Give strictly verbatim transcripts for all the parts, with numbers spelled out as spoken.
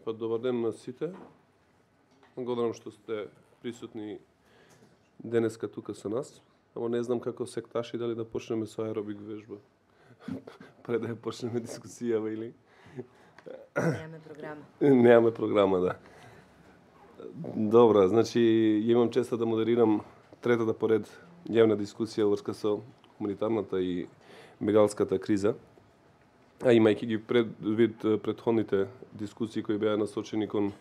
Па добар ден на сите. Благодарам што сте присутни денеска тука со нас. Ама не знам како секташи дали да почнеме со аеробик вежба. Пред да ја почнеме дискусијава или... Немаме програма. Немаме програма, да. Добра, значи имам честа да модерирам третата поред јавна дискусија врска со хуманитарната и бегалската криза. А имајќи ги предвид претходните дискусии кои беа насочени кон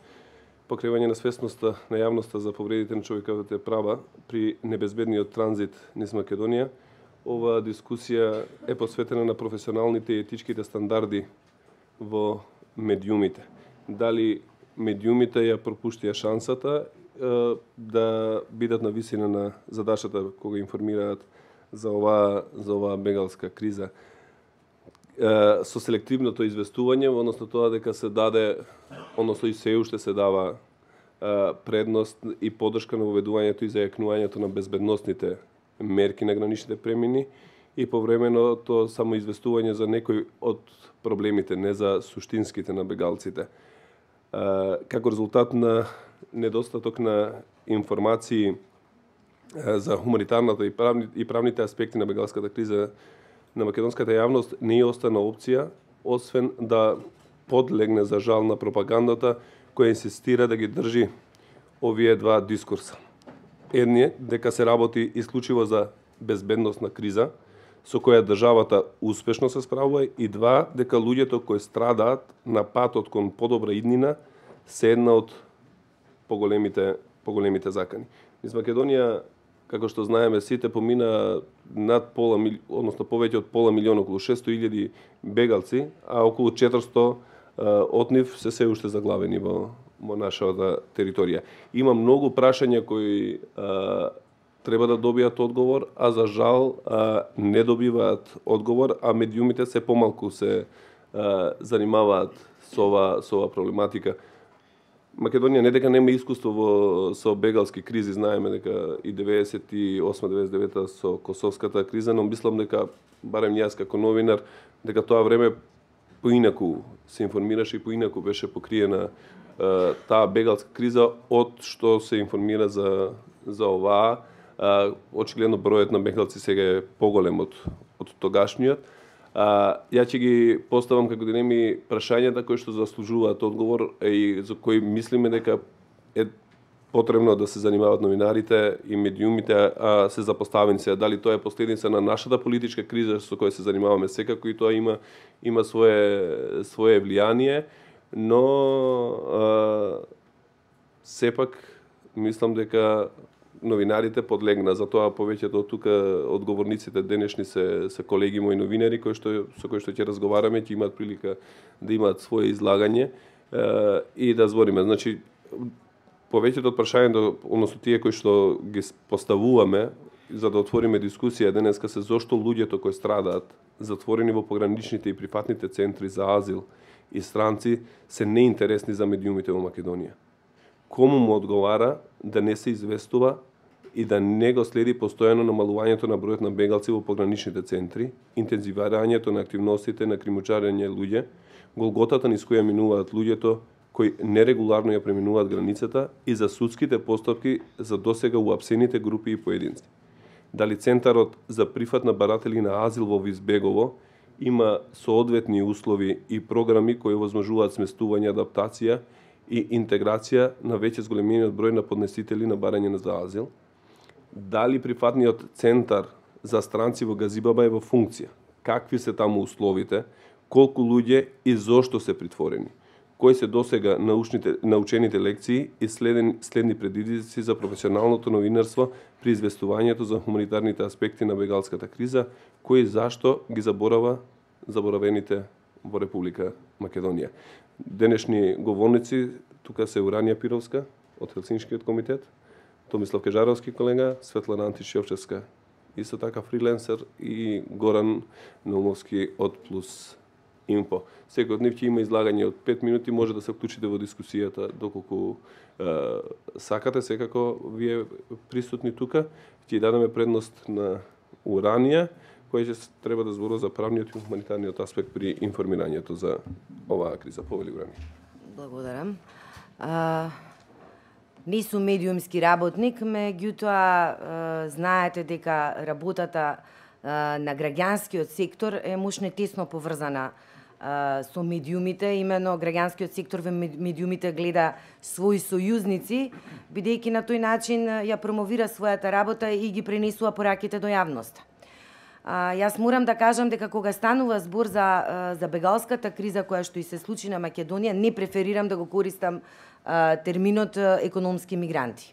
покривање на свесноста на јавноста за повредите на човековите права при небезбедниот транзит низ Македонија, оваа дискусија е посветена на професионалните и етичките стандарди во медиумите. Дали медиумите ја пропуштија шансата е, да бидат на висина на задачата кога информираат за оваа за оваа бегалска криза. Со селективното известување, односно тоа дека се даде, односно и се уште се дава предност и поддршка на воведувањето и зајакнувањето на безбедносните мерки на граничните премини и повременото само известување за некои од проблемите, не за суштинските на бегалците. Како резултат на недостаток на информации за хуманитарната и, правни, и правните аспекти на бегалската криза, на македонската јавност не ја остана опција, освен да подлегне за жал на пропагандата која инсистира да ги држи овие два дискурса. Едниот дека се работи исклучиво за безбедносна криза, со која државата успешно се справува, и два, дека луѓето кои страдаат на патот кон подобра иднина се една од поголемите, поголемите закани. Низ Македонија, како што знаеме сите, помина над пола, односно повеќе од пола милион, околу шесто илјади бегалци, а околу четиристо од нив се се уште заглавени во, во нашата територија. Има многу прашања кои а, треба да добијат одговор, а за жал а, не добиваат одговор, а медиумите се помалку се а, занимаваат со ова, со ова проблематика. Македонија не дека нема искуство во, со бегалски кризи, знаеме дека и деветдесет и осма деветдесет и девета со косовската криза, но мислам дека, барем јас како новинар, дека тоа време поинаку се информираше и поинаку беше покриена е, таа бегалска криза од што се информира за, за оваа. Е, очигледно бројот на бегалци сега е поголем од, од тогашниот. А, ја ќе ги поставам како дилеми прашањата кои што заслужуваат одговор и за кои мислиме дека е потребно да се занимаваат новинарите и медиумите, а се запоставени се. Дали тоа е последица на нашата политичка криза со која се занимаваме секако, и тоа има има свое свое влијание, но а, сепак мислам дека новинарите подлегна, затоа повеќето од тука одговорниците денешни се се колеги мои новинари кои што со кои што ќе разговараме, ќе имаат прилика да имаат свое излагање е, и да збориме. Значи повеќето од прашањата, односно тие кои што ги поставуваме за да отвориме дискусија денеска, се зошто луѓето кои страдаат затворени во пограничните и прифатните центри за азил и странци се неинтересни за медиумите во Македонија. Кому му одговара да не се известува и да не го следи постојано намалувањето на бројот на бегалци во пограничните центри, интензивирањето на активностите на кримучарење луѓе, голготата низ која минуваат луѓето кои нерегуларно ја преминуваат границата, и за судските постапки за досега уапсените групи и поединци. Дали Центарот за прифат на баратели на азил во Визбегово има соодветни услови и програми кои овозможуваат сместување, адаптација и интеграција на веќе зголемениот број на поднесители на барање за азил? Дали прифатниот центар за странци во Газибаба е во функција? Какви се таму условите? Колку луѓе и зошто се притворени? Кои се досега научните, научените лекции и следен, следни предизвици за професионалното новинарство при известувањето за хуманитарните аспекти на бегалската криза, кои зашто ги заборава заборавените во Република Македонија? Денешни говорници тука се Уранија Пировска од Хелсиншкиот комитет, Томислав Кежаровски колега, Светлана Антиш-Јовчевска, исто така фриленсер, и Горан Наумовски од Плюс Инфо. Секој од нив ќе има излагање од пет минути, може да се вклучите во дискусијата доколку е, сакате. Секако вие присутни тука ќе дадеме предност на Уранија, кој ќе треба да зборува за правниот и хуманитарниот аспект при информирањето за оваа криза. Повели Уранија. Благодарам. А, не сум медиумски работник, меѓутоа знаете дека работата а, на граѓанскиот сектор е мушне тесно поврзана а, со медиумите. Именно граѓанскиот сектор во медиумите гледа своји сојузници, бидејќи на тој начин ја промовира својата работа и ги пренесува пораките до јавноста. А, јас морам да кажам дека кога станува збор за, за бегалската криза која што и се случи на Македонија, не преферирам да го користам а, терминот економски мигранти.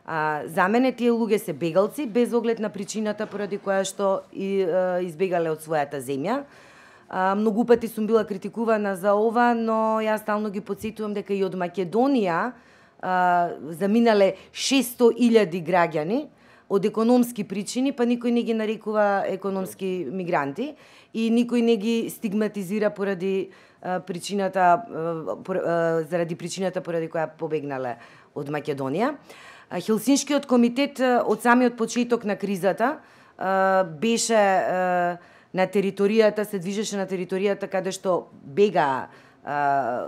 А, за мене тие луѓе се бегалци без оглед на причината поради која што и, а, избегале од својата земја. А, многу пати сум била критикувана за ова, но јас стално ги потсетувам дека и од Македонија а, заминале шесто илјади граѓани од економски причини, па никој не ги нарекува економски мигранти и никој не ги стигматизира поради а, причината а, пор, а, заради причината поради која побегнале од Македонија. А, Хелсиншкиот комитет а, од самиот почеток на кризата а, беше а, на територијата, се движеше на територијата каде што бега а,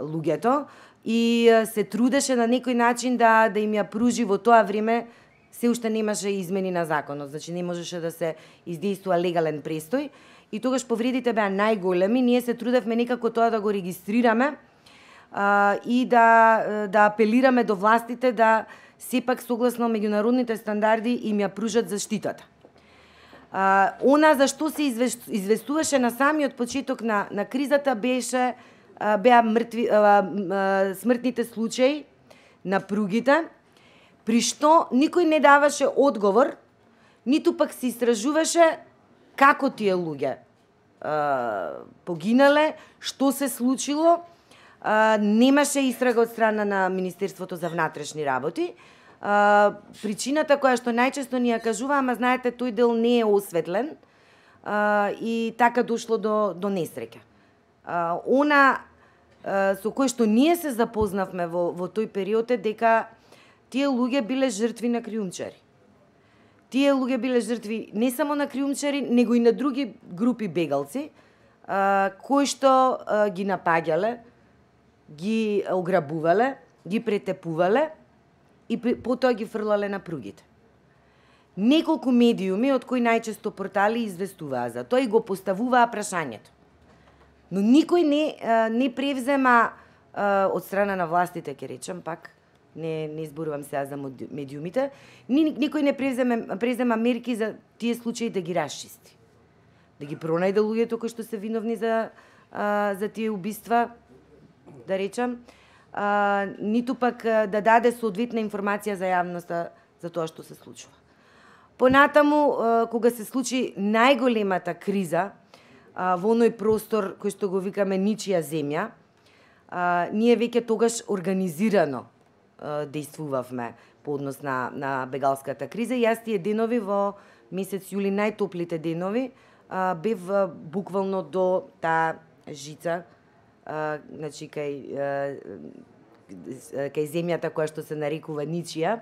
луѓето и а, се трудеше на некој начин да да им ја пружи во тоа време. Се уште немаше измени на законот, значи не можеше да се издействува легален престој и тогаш повредите беа најголеми. Ние се трудевме некако тоа да го регистрираме а, и да да апелираме до властите да сепак согласно меѓународните стандарди им ја пружат заштитата. А, она за што се известуваше на самиот почеток на на кризата беше а, беа мртви а, а, смртните случаи на пругите, при што никој не даваше одговор, ниту пак се истражуваше како тие луѓе а, погинале, што се случило. А, немаше истрага од страна на Министерството за внатрешни работи. А, причината која што најчесто ни ја кажува, ама знаете, тој дел не е осветлен а, и така дошло до, до несреќа. А, она а, со кој што ние се запознавме во, во тој период е дека тие луѓе биле жртви на криумчари. Тие луѓе биле жртви не само на криумчари, него и на други групи бегалци, а, кои што а, ги напаѓале, ги ограбувале, ги претепувале и потоа ги фрлале на пругите. Неколку медиуми, од кои најчесто портали известуваа за тоа и го поставуваа прашањето. Но никој не, а, не превзема а, од страна на властите, ќе речем пак, не не изборувам сега за медиумите, ни, никој не преземе презема мерки за тие случаи да ги расчисти. Да ги пронајде луѓето кои што се виновни за а, за тие убиства, да речам, а, ниту пак да даде соодветна информација за јавноста за тоа што се случува. Понатаму, а, кога се случи најголемата криза а, во оној простор кој што го викаме ничија земја, а, ние веќе тогаш организирано действувавме по однос на, на бегалската криза. И јас тие денови во месец јули, најтоплите денови, а, бев а, буквално до таа жица, а, значи кај, а, кај земјата која што се нарекува Ничија,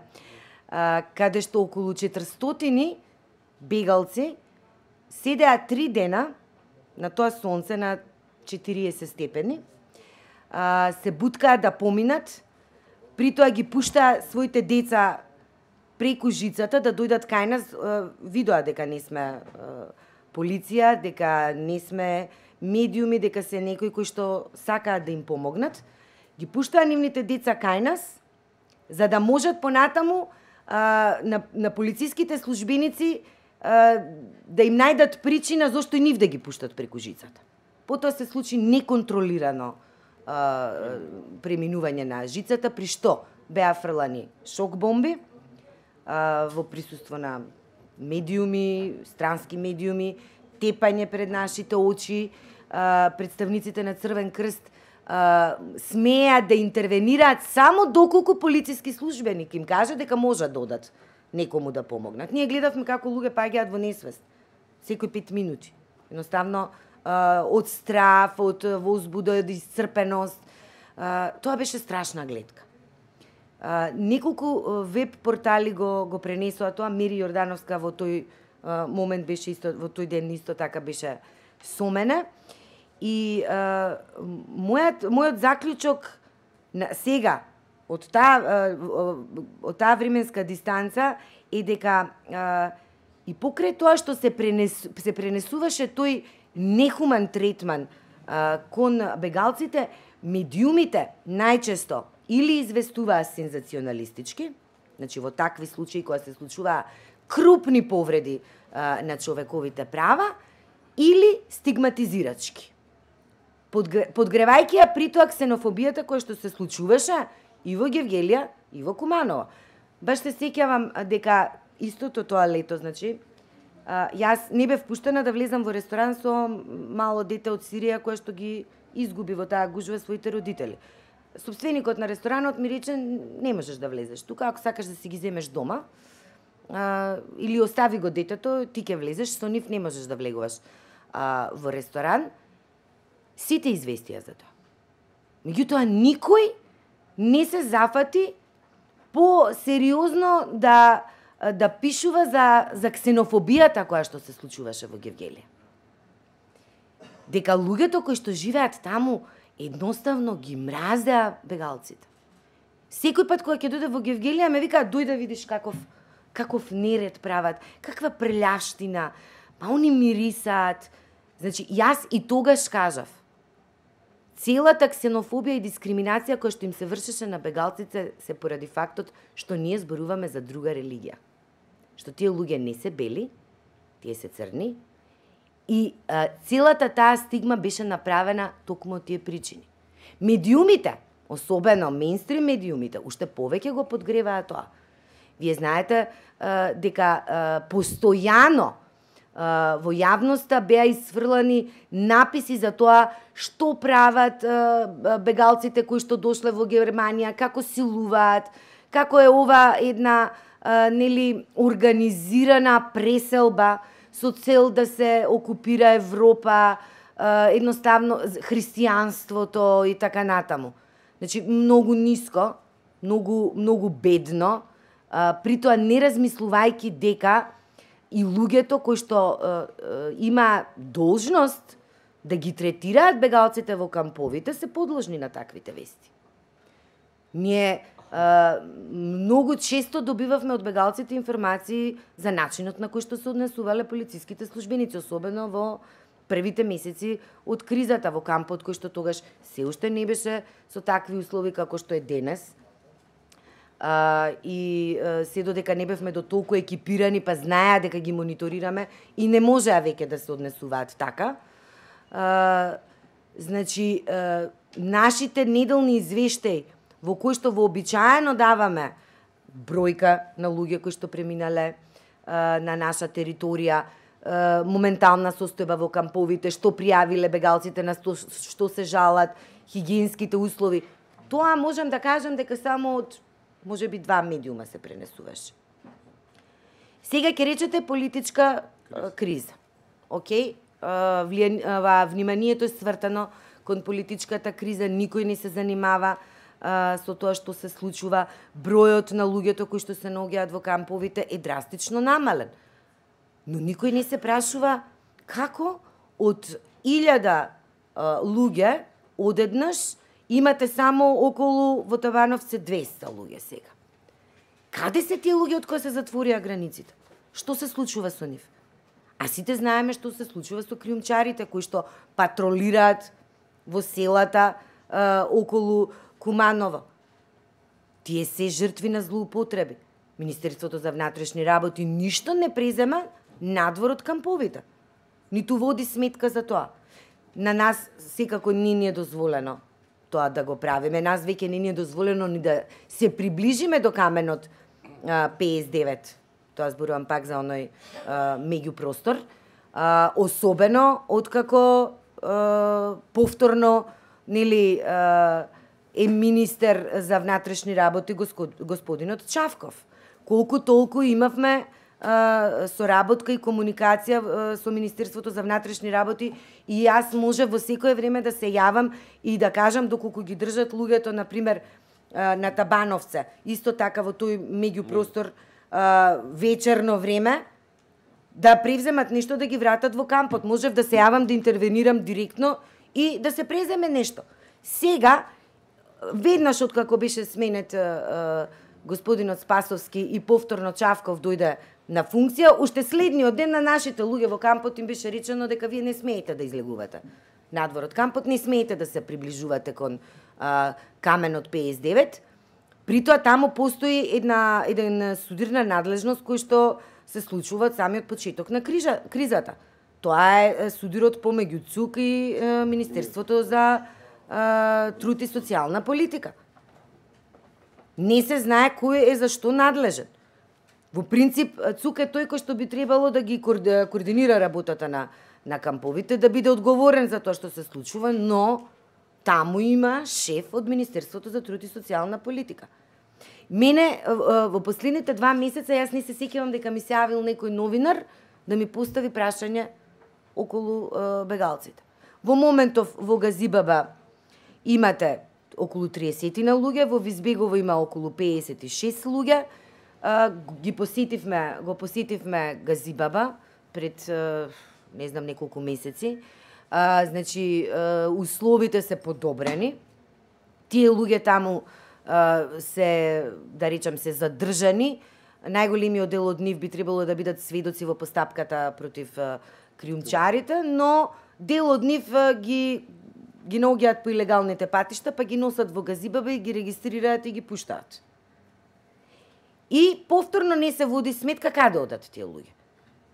а, каде што околу четиристотини бегалци седеа три дена на тоа сонце на четириесет степени, а, се буткаа да поминат, при тоа ги пуштаа своите деца преку жицата да дојдат кај нас, видоа дека не сме полиција, дека не сме медиуми, дека се некои кои што сакаат да им помогнат. Ги пуштаа нивните деца кај нас, за да можат понатаму а, на, на полициските службеници а, да им најдат причина зошто и нив да ги пуштат преку жицата. Потоа се случи неконтролирано преминување на жицата, при што беа фрлани шок бомби а, во присуство на медиуми, странски медиуми, тепање пред нашите очи, а, представниците на Црвен крст а, смеа да интервенираат само доколку полициски службеник им каже дека можат да одат некому да помогнат. Ние гледавме како луѓе паѓаат во несвест секои пет минути. Едноставно од страф, од возбуда, од исцрпеност. Тоа беше страшна гледка. Неколку веб портали го го пренесоа тоа. Мери Јордановска во тој момент беше исто, во тој ден исто така беше со мене. И а, мојот мојот заклучок на сега од таа од таа временска дистанца е дека а, и покрај тоа што се пренес, се пренесуваше тој нехуман третман а, кон бегалците, медиумите најчесто или известуваа сензационалистички, значи во такви случаи кога се случуваа крупни повреди а, на човековите права, или стигматизирачки. Подгревајќи ја при тоа ксенофобијата која што се случуваше и во Гевгелија, и во Куманово. Баш се сеќавам дека истото тоа лето, значи, а, јас не бев пуштена да влезам во ресторан со мало дете од Сирија кое што ги изгуби во таа гужва своите родители. Собственикот на ресторанот ми рече, не можеш да влезеш тука, ако сакаш да си ги земеш дома, а, или остави го детето, ти ќе влезеш, со нив не можеш да влегуваш а, во ресторан. Сите известија за тоа. Меѓутоа, никој не се зафати по-сериозно да, да пишува за, за ксенофобијата која што се случуваше во Гевгелија. Дека луѓето кои што живеат таму едноставно ги мразеа бегалците. Секој пат кога ќе дојде во Гевгелија ме вика, дој да видиш каков, каков неред прават, каква прелјаштина, па они мирисаат. Значи, јас и тогаш кажав, целата ксенофобија и дискриминација која што им се вршеше на бегалците се поради фактот што ние зборуваме за друга религија. Што тие луѓе не се бели, тие се црни, и а, целата таа стигма беше направена токму од тие причини. Медиумите, особено мејнстрим медиумите, уште повеќе го подгреваа тоа. Вие знаете а, дека а, постојано а, во јавноста беа исфрлани написи за тоа што прават а, бегалците кои што дошле во Германија, како силуваат, како е ова една а, нели организирана преселба со цел да се окупира Европа, едноставно христијанството и така натаму. Значи, многу ниско, многу, многу бедно, при тоа не размислувајќи дека и луѓето кои што има должност да ги третираат бегалците во камповите се подложни на таквите вести. Ние Uh, многу често добивавме од бегалците информации за начинот на кој што се однесувале полициските службеници, особено во првите месеци од кризата во кампот, кој што тогаш се уште не беше со такви услови како што е денес. Uh, и uh, се додека не бевме до толку екипирани, па знаеа дека ги мониторираме и не можеа веќе да се однесуваат така. Uh, значи, uh, нашите неделни извештаи во кој што вообичаено даваме бројка на луѓе кои што преминале а, на наша територија, а, моментална состојба во камповите, што пријавиле бегалците, на сто, што се жалат, хигиенските услови. Тоа можам да кажам дека само од можеби два медиума се пренесуваше. Сега ќе речете политичка а, криза. Океј, а, влија, вниманието е свртано кон политичката криза, никој не се занимава со тоа што се случува, бројот на луѓето кои што се наоѓаат во камповите е драстично намален. Но никој не се прашува како од илјада луѓе одеднаш имате само околу во Табановце двеста луѓе сега. Каде се тие луѓе од кои се затворија границите? Што се случува со нив? А сите знаеме што се случува со криумчарите кои што патролираат во селата а, околу Куманово. Тие се жртви на злоупотреби. Министерството за внатрешни работи ништо не презема надвор од камповите. Ниту води сметка за тоа. На нас секако не ни е дозволено тоа да го правиме. Нас веќе не ни е дозволено ни да се приближиме до каменот а, петдесет и девет. Тоа зборувам пак за оној а, меѓупростор. А, особено откако а, повторно нели а, е министер за внатрешни работи господинот Чавков. Колку толку имавме а, соработка и комуникација а, со Министерството за внатрешни работи и јас може во секое време да се јавам и да кажам доколку ги држат луѓето, например, а, на Табановце, исто така во тој меѓупростор а, вечерно време, да превземат нешто да ги вратат во кампот. Можев да се јавам да интервенирам директно и да се преземе нешто. Сега, веднаш откако беше сменет uh, господинот Спасовски и повторно Чавков дојде на функција, уште следниот ден на нашите луѓе во кампот им беше речено дека вие не смеете да излегувате надвор од кампот, не смеете да се приближувате кон uh, каменот петдесет и девет. Притоа таму постои една еден судирна надлежност кој што се случува од самиот почеток на крижа, кризата. Тоа е судирот помеѓу ЦУК и е, Министерството за е, труд и социјална политика. Не се знае кој е за што надлежен. Во принцип, ЦУК е тој кој што би требало да ги координира работата на, на камповите, да биде одговорен за тоа што се случува, но таму има шеф од Министерството за труд и социјална политика. Мене во последните два месеца јас не се сеќавам дека ми се јавил некој новинар да ми постави прашање околу е, бегалците. Во моментов во Газибаба имате околу триесет на луѓе, во Визбегово има околу педесет и шест луѓе. Е, ги посетивме, го посетивме Газибаба пред е, не знам неколку месеци. А, значи, е, условите се подобрени. Тие луѓе таму се, да речам, се задржани. Најголемиот дел од нив би требало да бидат сведоци во постапката против криумчарите, но дел од нив ги ги наоѓаат по илегалните патишта, па ги носат во Газибаба и ги регистрираат и ги пуштаат. И повторно не се води сметка каде одат тие луѓе.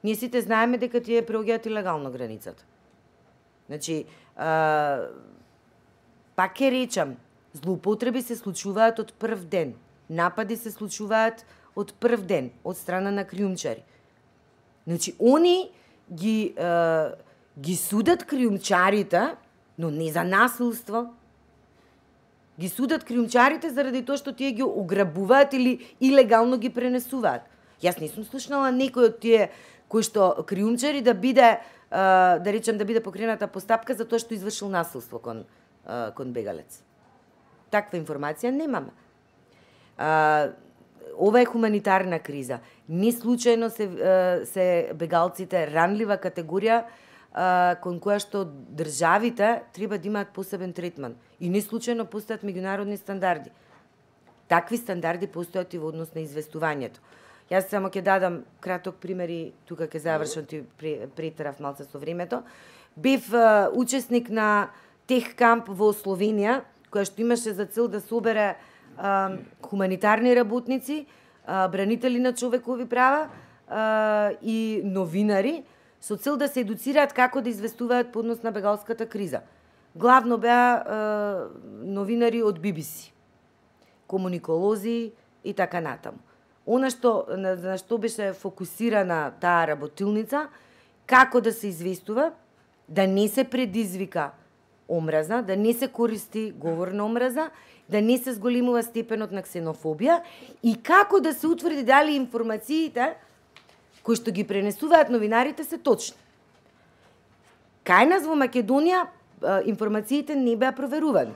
Ние сите знаеме дека тие преоѓаат илегално границата. Значи, а, пак ќе речам, злоупотреби се случуваат од прв ден. Напади се случуваат од прв ден од страна на криумчари. Значи, они ги е, ги судат криумчарите, но не за насилство. Ги судат криумчарите заради тоа што тие ги ограбуваат или илегално ги пренесуваат. Јас не сум слушнала некој од тие кои што криумчари да биде е, да речем да биде покрената постапка за тоа што извршил насилство кон е, кон бегалец. Таква информација немаме. А, ова е хуманитарна криза. Не случајно се, се бегалците ранлива категорија а, кон која што државите треба да имаат посебен третман. И не случајно постојат меѓународни стандарди. Такви стандарди постојат и во однос на известувањето. Јас само ќе дадам краток пример и тука ќе завршам, ти претерав малце со времето. Бев а, учесник на тех камп во Словенија, која што имаше за цел да собере а, хуманитарни работници, а, бранители на човекови права а, и новинари, со цел да се едуцираат како да известуваат по однос на бегалската криза. Главно беа а, новинари од Би Би Си, комуниколози и така натаму. Она што, на, на што беше фокусирана таа работилница, како да се известува, да не се предизвика омраза, да не се користи говор на омраза, да не се зголемува степенот на ксенофобија и како да се утврди дали информациите кои што ги пренесуваат новинарите се точни. Кај нас во Македонија информациите не беа проверувани.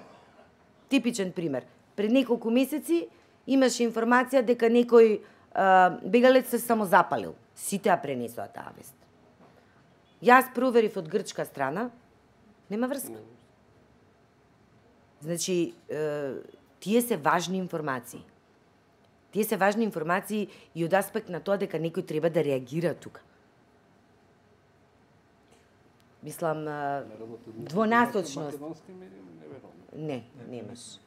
Типичен пример. Пред неколку месеци имаше информација дека некој а, бегалец се самозапалил. Сите ја пренесоа таа вест. Јас проверив од грчка страна, нема врска. Значи, е, тие се важни информации. Тие се важни информации и од аспект на тоа дека некој треба да реагира тука. Мислам, двонасочност. Не, немаш.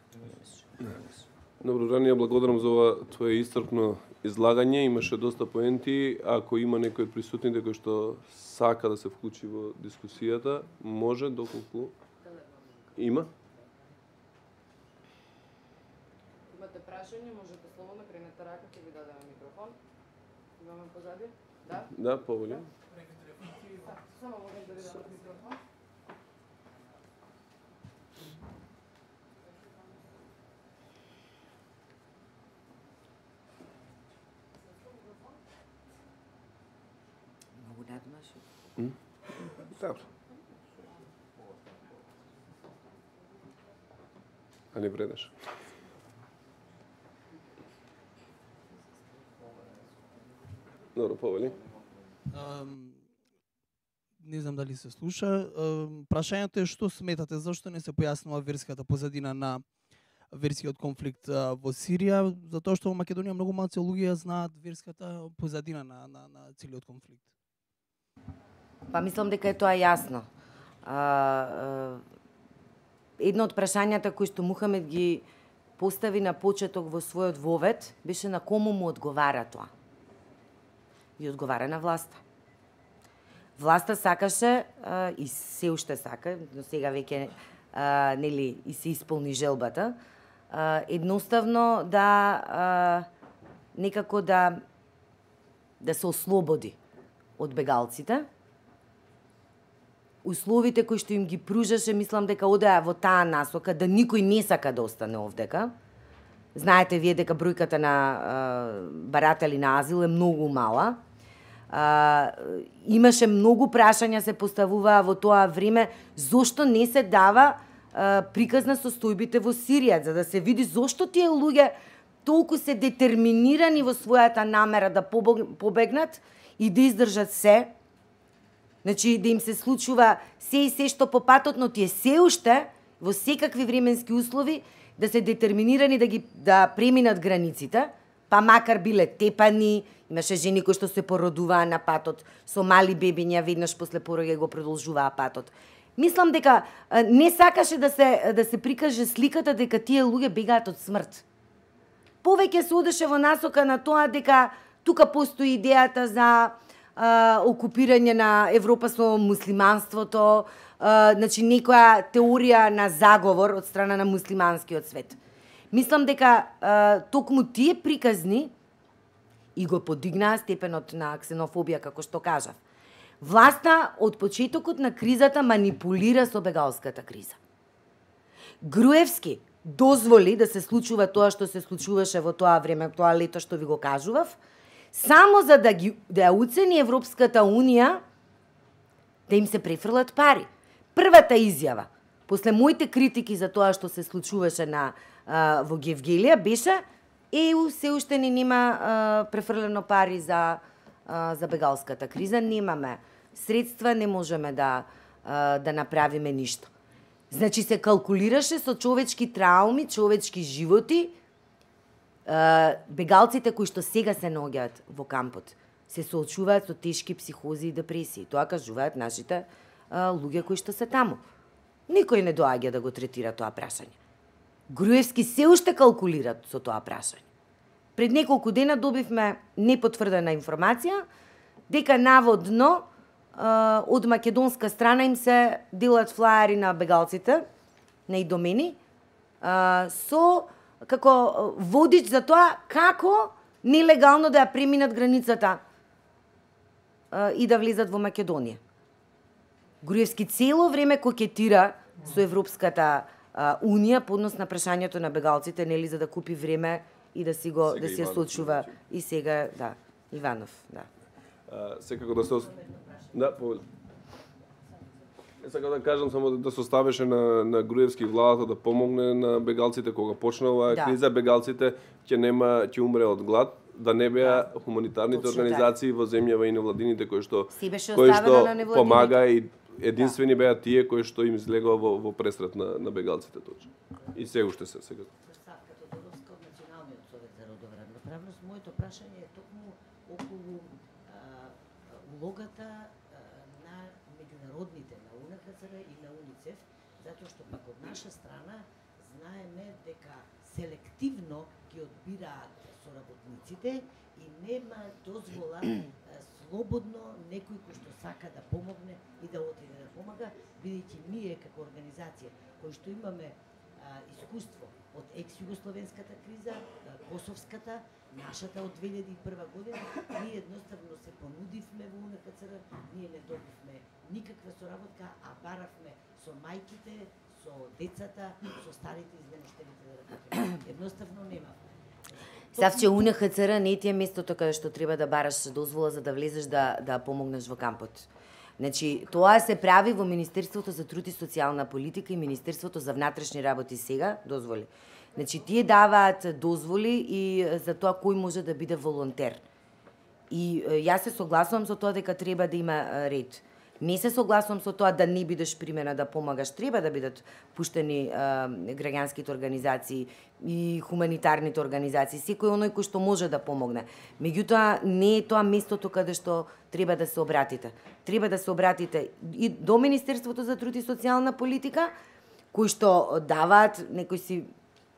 Добро, Рани, благодарам за ова твое истрпно излагање. Имаше доста поенти. Ако има некој од присутните кој што сака да се вклучи во дискусијата, може, доколку има. Имате прашање, можете слободно кренете рака, ќе ви дадеме микрофон. Имаме позади? Да? Да, поволим. Само можем да ви дадем микрофон. Многу надмаш. Добро. А не вредеш. Добро, повели. не знам дали се слуша. Прашањето е што сметате, зашто не се појаснува верската позадина на верскиот конфликт во Сирија, затоа што во Македонија многу малку луѓе знаат верската позадина на, на, на целиот конфликт. Па мислам дека е тоа јасно. А, а, едно од прашањата кои што Мухамед ги постави на почеток во својот вовед беше на кому му одговара тоа. И одговара на власта. Власта сакаше а, и се уште сака, до сега веќе а, нели и се исполни желбата, а, едноставно да а, некако да да се ослободи од бегалците. Условите кои што им ги пружаше, мислам дека одеа во таа насока, да никој не сака да остане овдека. Знаете вие дека бројката на а, баратели на азил е многу мала. А, имаше многу прашања се поставуваа во тоа време, зошто не се дава а, приказ на состојбите во Сирија, за да се види зошто тие луѓе толку се детерминирани во својата намера да побегнат и да издржат се. Значи, да им се случува се и се што по патот, но тие се уште во секакви временски услови да се детерминирани да ги да преминат границите, па макар биле тепани, имаше жени кои што се породуваа на патот, со мали бебиња веднаш после пороѓај го продолжуваа патот. Мислам дека не сакаше да се да се прикаже сликата дека тие луѓе бегаат од смрт. Повеќе се одеше во насока на тоа дека тука постои идејата за а, окупирање на Европа со муслиманството, а, значи некоја теорија на заговор од страна на муслиманскиот свет. Мислам дека а, токму тие приказни и го подигнаа степенот на ксенофобија, како што кажав. Власта од почетокот на кризата манипулира со бегалската криза. Груевски дозволи да се случува тоа што се случуваше во тоа време, тоа лето што ви го кажував, само за да ги да ја уцени Европската унија да им се префрлат пари. Првата изјава после моите критики за тоа што се случуваше на а, во Гевгелија беше Е У се уште не нема а, префрлено пари за а, за бегалската криза, немаме средства, не можеме да а, да направиме ништо. Значи се калкулираше со човечки трауми, човечки животи. А, бегалците кои што сега се наоѓаат во кампот се соочуваат со тешки психози и депресии. Тоа кажуваат нашите а, луѓе кои што се таму. Никој не доаѓа да го третира тоа прашање. Груевски се уште калкулира со тоа прашање. Пред неколку дена добивме непотврдена информација дека наводно а, од македонска страна им се делат флаери на бегалците, на идомени, а, со како водич за тоа како нелегално да ја преминат границата а, и да влезат во Македонија. Груевски цело време кокетира со Европската а, Унија по однос на прашањето на бегалците, нели, за да купи време и да си го сега да се случува и сега, да, Иванов, да. А, секако да се да, повели. Сакам да кажам само да се оставеше на на Груевски владата да помогне на бегалците кога почна оваа Да. криза, бегалците ќе нема ќе умре од глад, да не беа Да. хуманитарните Точно организации во земјава и невладините кои што Си беше кои оставено што на невладините. помага и единствени беа тие кои што им излегува во, во пресрет на, на бегалците точно. И се уште се сега. Савка Тодоровска од Националниот совет за родова равноправност. Моето прашање е токму околу а, улогата а, на меѓународните, на У Н Х Ц Р и на УНИЦЕФ, затоа што пак од наша страна знаеме дека селективно ги одбираат соработниците и нема дозвола а, слободно некој кој што сака да помогне и да отиде да помага, бидејќи ние како организација кои што имаме а, искуство од екс-југословенската криза, а, косовската, нашата од две илјади и прва година, ние едноставно се понудивме во У Н Х Ц Р, ние не добивме никаква соработка, а баравме со мајките, со децата, со старите измештените да работиме. Едноставно нема. Савче, У Н Х Ц Р не ти е местото каде што треба да бараш дозвола за да влезеш да да помогнеш во кампот. Значи, тоа се прави во Министерството за труд и социјална политика и Министерството за внатрешни работи сега, дозволи. Значи, тие даваат дозволи и за тоа кој може да биде волонтер. И е, јас се согласувам со тоа дека треба да има е, ред. Не се согласувам со тоа да не бидеш примена да помагаш, треба да бидат пуштени а, граѓанските организации и хуманитарните организации, секој оној кој што може да помогне. Меѓутоа, не е тоа местото каде што треба да се обратите. Треба да се обратите и до Министерството за труд и социјална политика, кои што даваат некои си,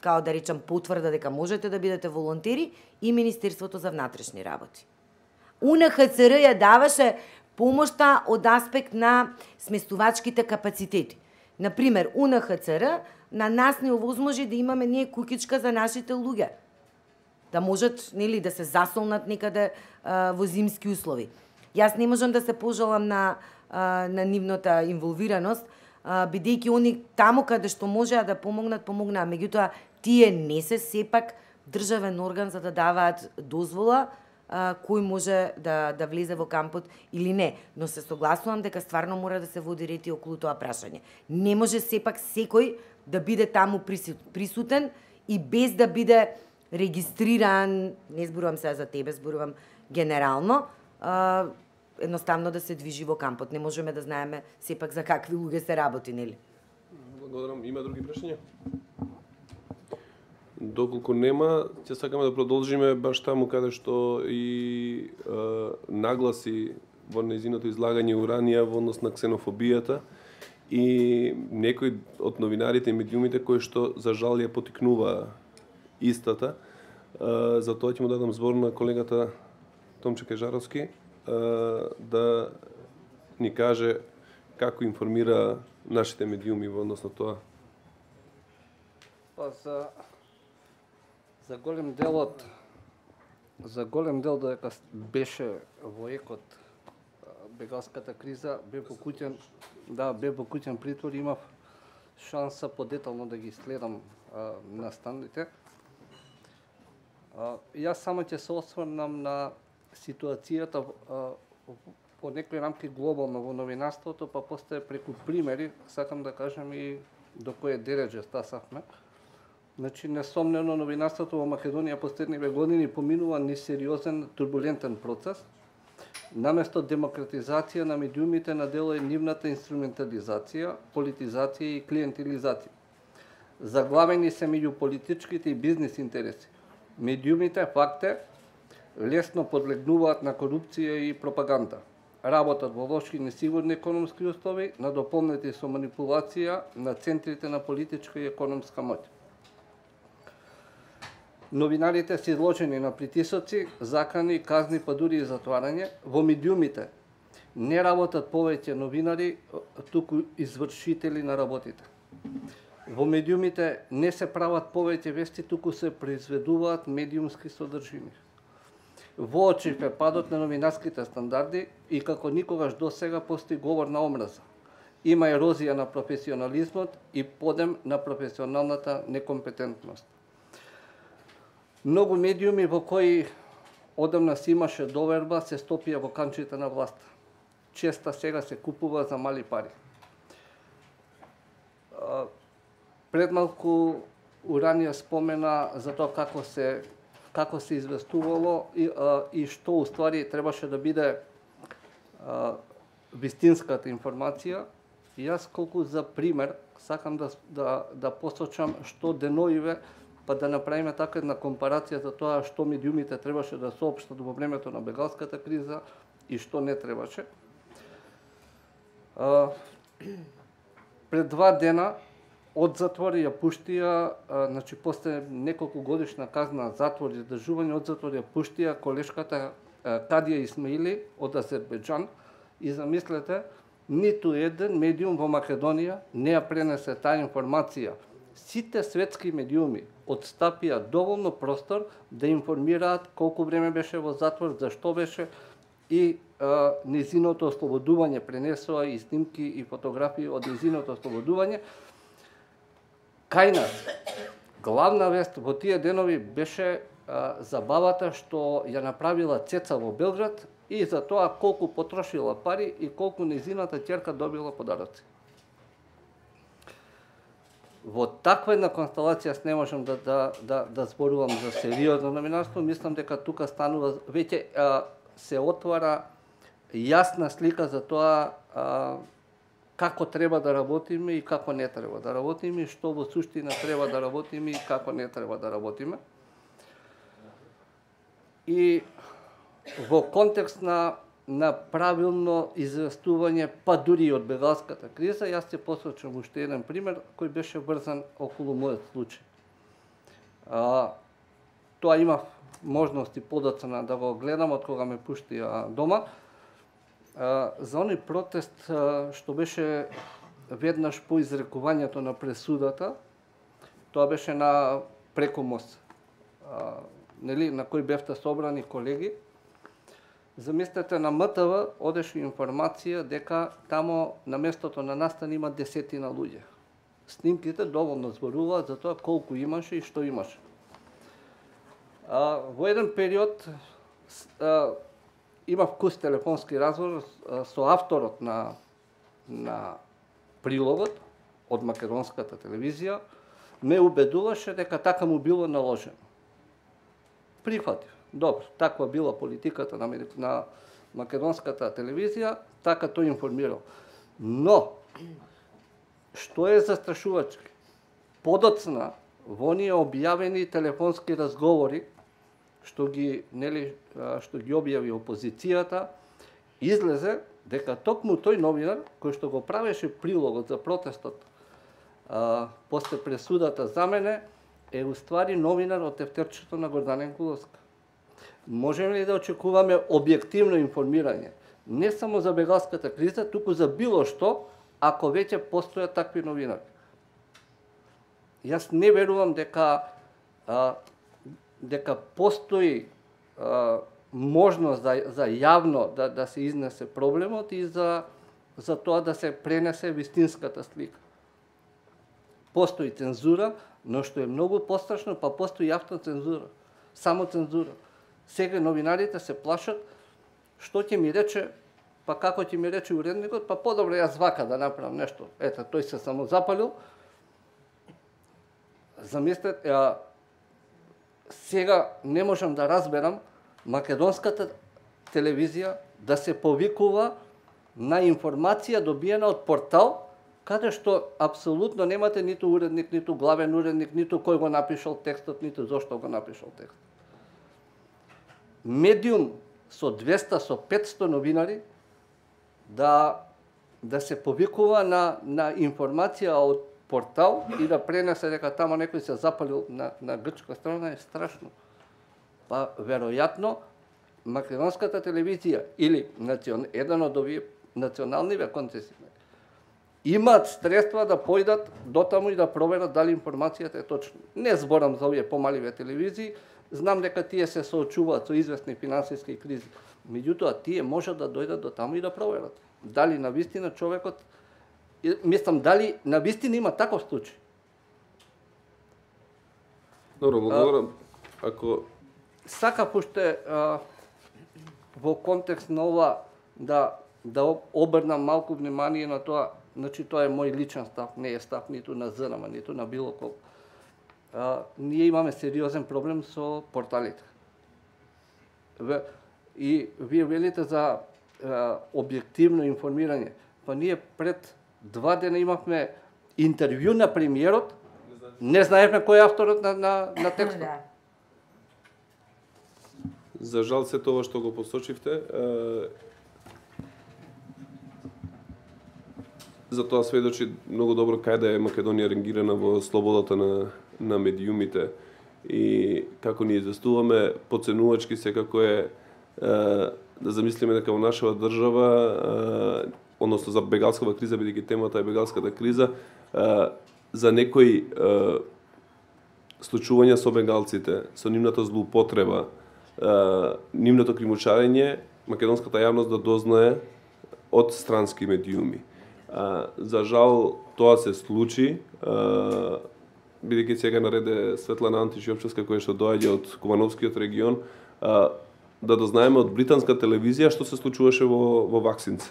као да речам, потврда дека можете да бидете волонтери, и Министерството за внатрешни работи. У Н Х Ц Р ја даваше помошта од аспект на сместувачките капацитети. Например, У Н Х Ц Р на нас не овозможи да имаме ние куќичка за нашите луѓе. Да можат, нели, да се засолнат некаде а, во зимски услови. Јас не можам да се пожалам на, а, на нивната инволвираност, а, бидејќи они таму каде што можеа да помогнат, помогнаа. Меѓутоа, тие не се сепак државен орган за да даваат дозвола а, кој може да, да влезе во кампот или не. Но се согласувам дека стварно мора да се води ред и околу тоа прашање. Не може сепак секој да биде таму присутен и без да биде регистриран, не зборувам сега за тебе, зборувам генерално, а, едноставно да се движи во кампот. Не можеме да знаеме сепак за какви луѓе се работи, нели? Благодарам. Има други прашања? Доколку нема, ќе сакаме да продолжиме баш таму каде што и а, нагласи во нејзиното излагање уранија во однос на ксенофобијата и некои од новинарите и медиумите кои што за жал ја потикнуваа истата. А, за тоа ќе му дадам збор на колегата Томче Кежаровски а, да ни каже како информира нашите медиуми во однос на тоа. Па за за голем делот за голем дел додека беше во екот бегалската криза, бе покуќен, да, бе покуќен притвор, имав шанса подетално да ги следам а, настаните. А, јас само ќе се осврнам на ситуацијата а, по некои рамки глобално во новинарството, па после преку примери, сакам да кажам и до кое дереđe стасавме. Значи, несомнено, новинарството во Македонија последниве години поминува несериозен, турбулентен процес. Наместо демократизација на медиумите, на дело е нивната инструментализација, политизација и клиентилизација. Заглавени се меѓу политичките и бизнис интереси. Медиумите, факт е, лесно подлегнуваат на корупција и пропаганда. Работат во лоши и несигурни економски услови, надополнети со манипулација на центрите на политичка и економска моќ. Новинарите се изложени на притисоци, закани, казни, па дури и затварање. Во медиумите не работат повеќе новинари, туку извршители на работите. Во медиумите не се прават повеќе вести, туку се произведуваат медиумски содржини. Воочив е падот на новинарските стандарди и како никогаш досега постои говор на омраза. Има ерозија на професионализмот и подем на професионалната некомпетентност. Многу медиуми во кои одамна си имаше доверба се стопија во канчите на власта. Честа сега се купува за мали пари. Пред малку Уранија спомена за тоа како се како се известувало и, а, и што уствари требаше да биде а, вистинската информација. И јас колку за пример сакам да, да, да посочам што деноиве, па да направиме така една компарација за тоа што медиумите требаше да соопштат во времето на бегалската криза и што не требаше. А, пред два дена од затвор ја пуштија, а, значи после неколку годишна казна затвор и издржување, од затвор ја пуштија колешката а, Кадија Исмаили од Азербејџан и замислете, ниту еден медиум во Македонија не ја пренесе таа информација. Сите светски медиуми отстапија доволно простор да информираат колку време беше во затвор, зашто беше и а, незиното ослободување, пренесоа и снимки и фотографии од незиното ослободување. Кај нас, главна вест во тие денови беше а, забавата што ја направила Цеца во Белград и за тоа колку потрошила пари и колку незината ќерка добила подароци. Во таква една констелација не можам да, да, да, да зборувам за сериозно новинарство. Мислам дека тука станува, веќе а, се отвара јасна слика за тоа а, како треба да работиме и како не треба да работиме, и што во суштина треба да работиме и како не треба да работиме. И во контекст на, на правилно известување, па дури и од бегалската криза, јас ќе посочам уште еден пример кој беше врзан околу мојот случај. А, тоа имав можности подоцна да го гледам од кога ме пуштија дома. А, за оној протест а, што беше веднаш по изрекувањето на пресудата, тоа беше на преку мост, а, нели, на кој бевте собрани колеги. Замислете, на М Т В одеше информација дека тамо на местото на настан има десетина луѓе. Снимките доволно зборуваат за тоа колку имаше и што имаше. А, во еден период а, имав кус телефонски разговор а, со авторот на, на прилогот од македонската телевизија, ме убедуваше дека така му било наложено. Прифатив. Добро, таква била политиката на, на македонската телевизија, така тој информирал. Но, што е застрашувачки? Подоцна, во оние објавени телефонски разговори, што ги, нели, што ги објави опозицијата, излезе дека токму тој новинар, кој што го правеше прилогот за протестот а, после пресудата за мене, е уствари новинар од тефтерчето на Гордана Енкуловска. Можеме ли да очекуваме објективно информирање? Не само за бегалската криза, туку за било што, ако веќе постојат такви новинари. Јас не верувам дека а, дека постои а, можност за, за јавно да, да се изнесе проблемот и за, за тоа да се пренесе вистинската слика. Постои цензура, но што е многу пострашно, па постои автоцензура, само цензура. Сега новинарите се плашат што ќе ми рече, па како ќе ми рече уредникот, па подобро јас вака да направам нешто. Ето, тој се само запалил. Замислете, а, сега не можам да разберам македонската телевизија да се повикува на информација добиена од портал, каде што апсолутно немате ниту уредник, ниту главен уредник, ниту кој го напишал текстот, ниту зошто го напишал текстот. Медиум со двеста, со петсто новинари да, да се повикува на, на информација од портал и да пренесе дека тамо некој се запалил на, на грчка страна е страшно. Па, веројатно, македонската телевизија или национ, еден од овие националниве концесии имаат средства да појдат дотаму и да проверат дали информацијата е точна. Не зборам за овие помаливе телевизии, знам дека тие се соочуваат со известни финансиски кризи. Меѓутоа, тие можат да дојдат до таму и да проверат дали навистина човекот, мислам, дали навистина има таков случај. Добро, благодарам. Ако сакав уште а, во контекст на ова да да обрнам малку внимание на тоа, значи тоа е мој личен став, не е став ниту на З Н М, ниту на било кого. А, ние имаме сериозен проблем со порталите. И вие велите за а, објективно информирање. Па ние пред два дена имавме интервју на премиерот, не знаевме кој е авторот на, на, на текстот. За жал се тоа што го посочивте, за тоа сведочи многу добро кај да е Македонија ренгирана во слободата на, на медиумите и како ни известуваме, поценувачки секако е, е да замислиме дека во нашава држава, е, односно за бегалската криза, бидејќи темата е бегалската криза, е, за некои е, случувања со бегалците, со нивната злоупотреба, е, нивното кримучарење, македонската јавност да дознае од странски медиуми. А, за жал тоа се случи, а, бидејќи сега нареде Светлана Антиш-Јовчевска која што доаѓа од Кумановскиот регион, а, да дознаеме од британска телевизија што се случуваше во, во Ваксинце.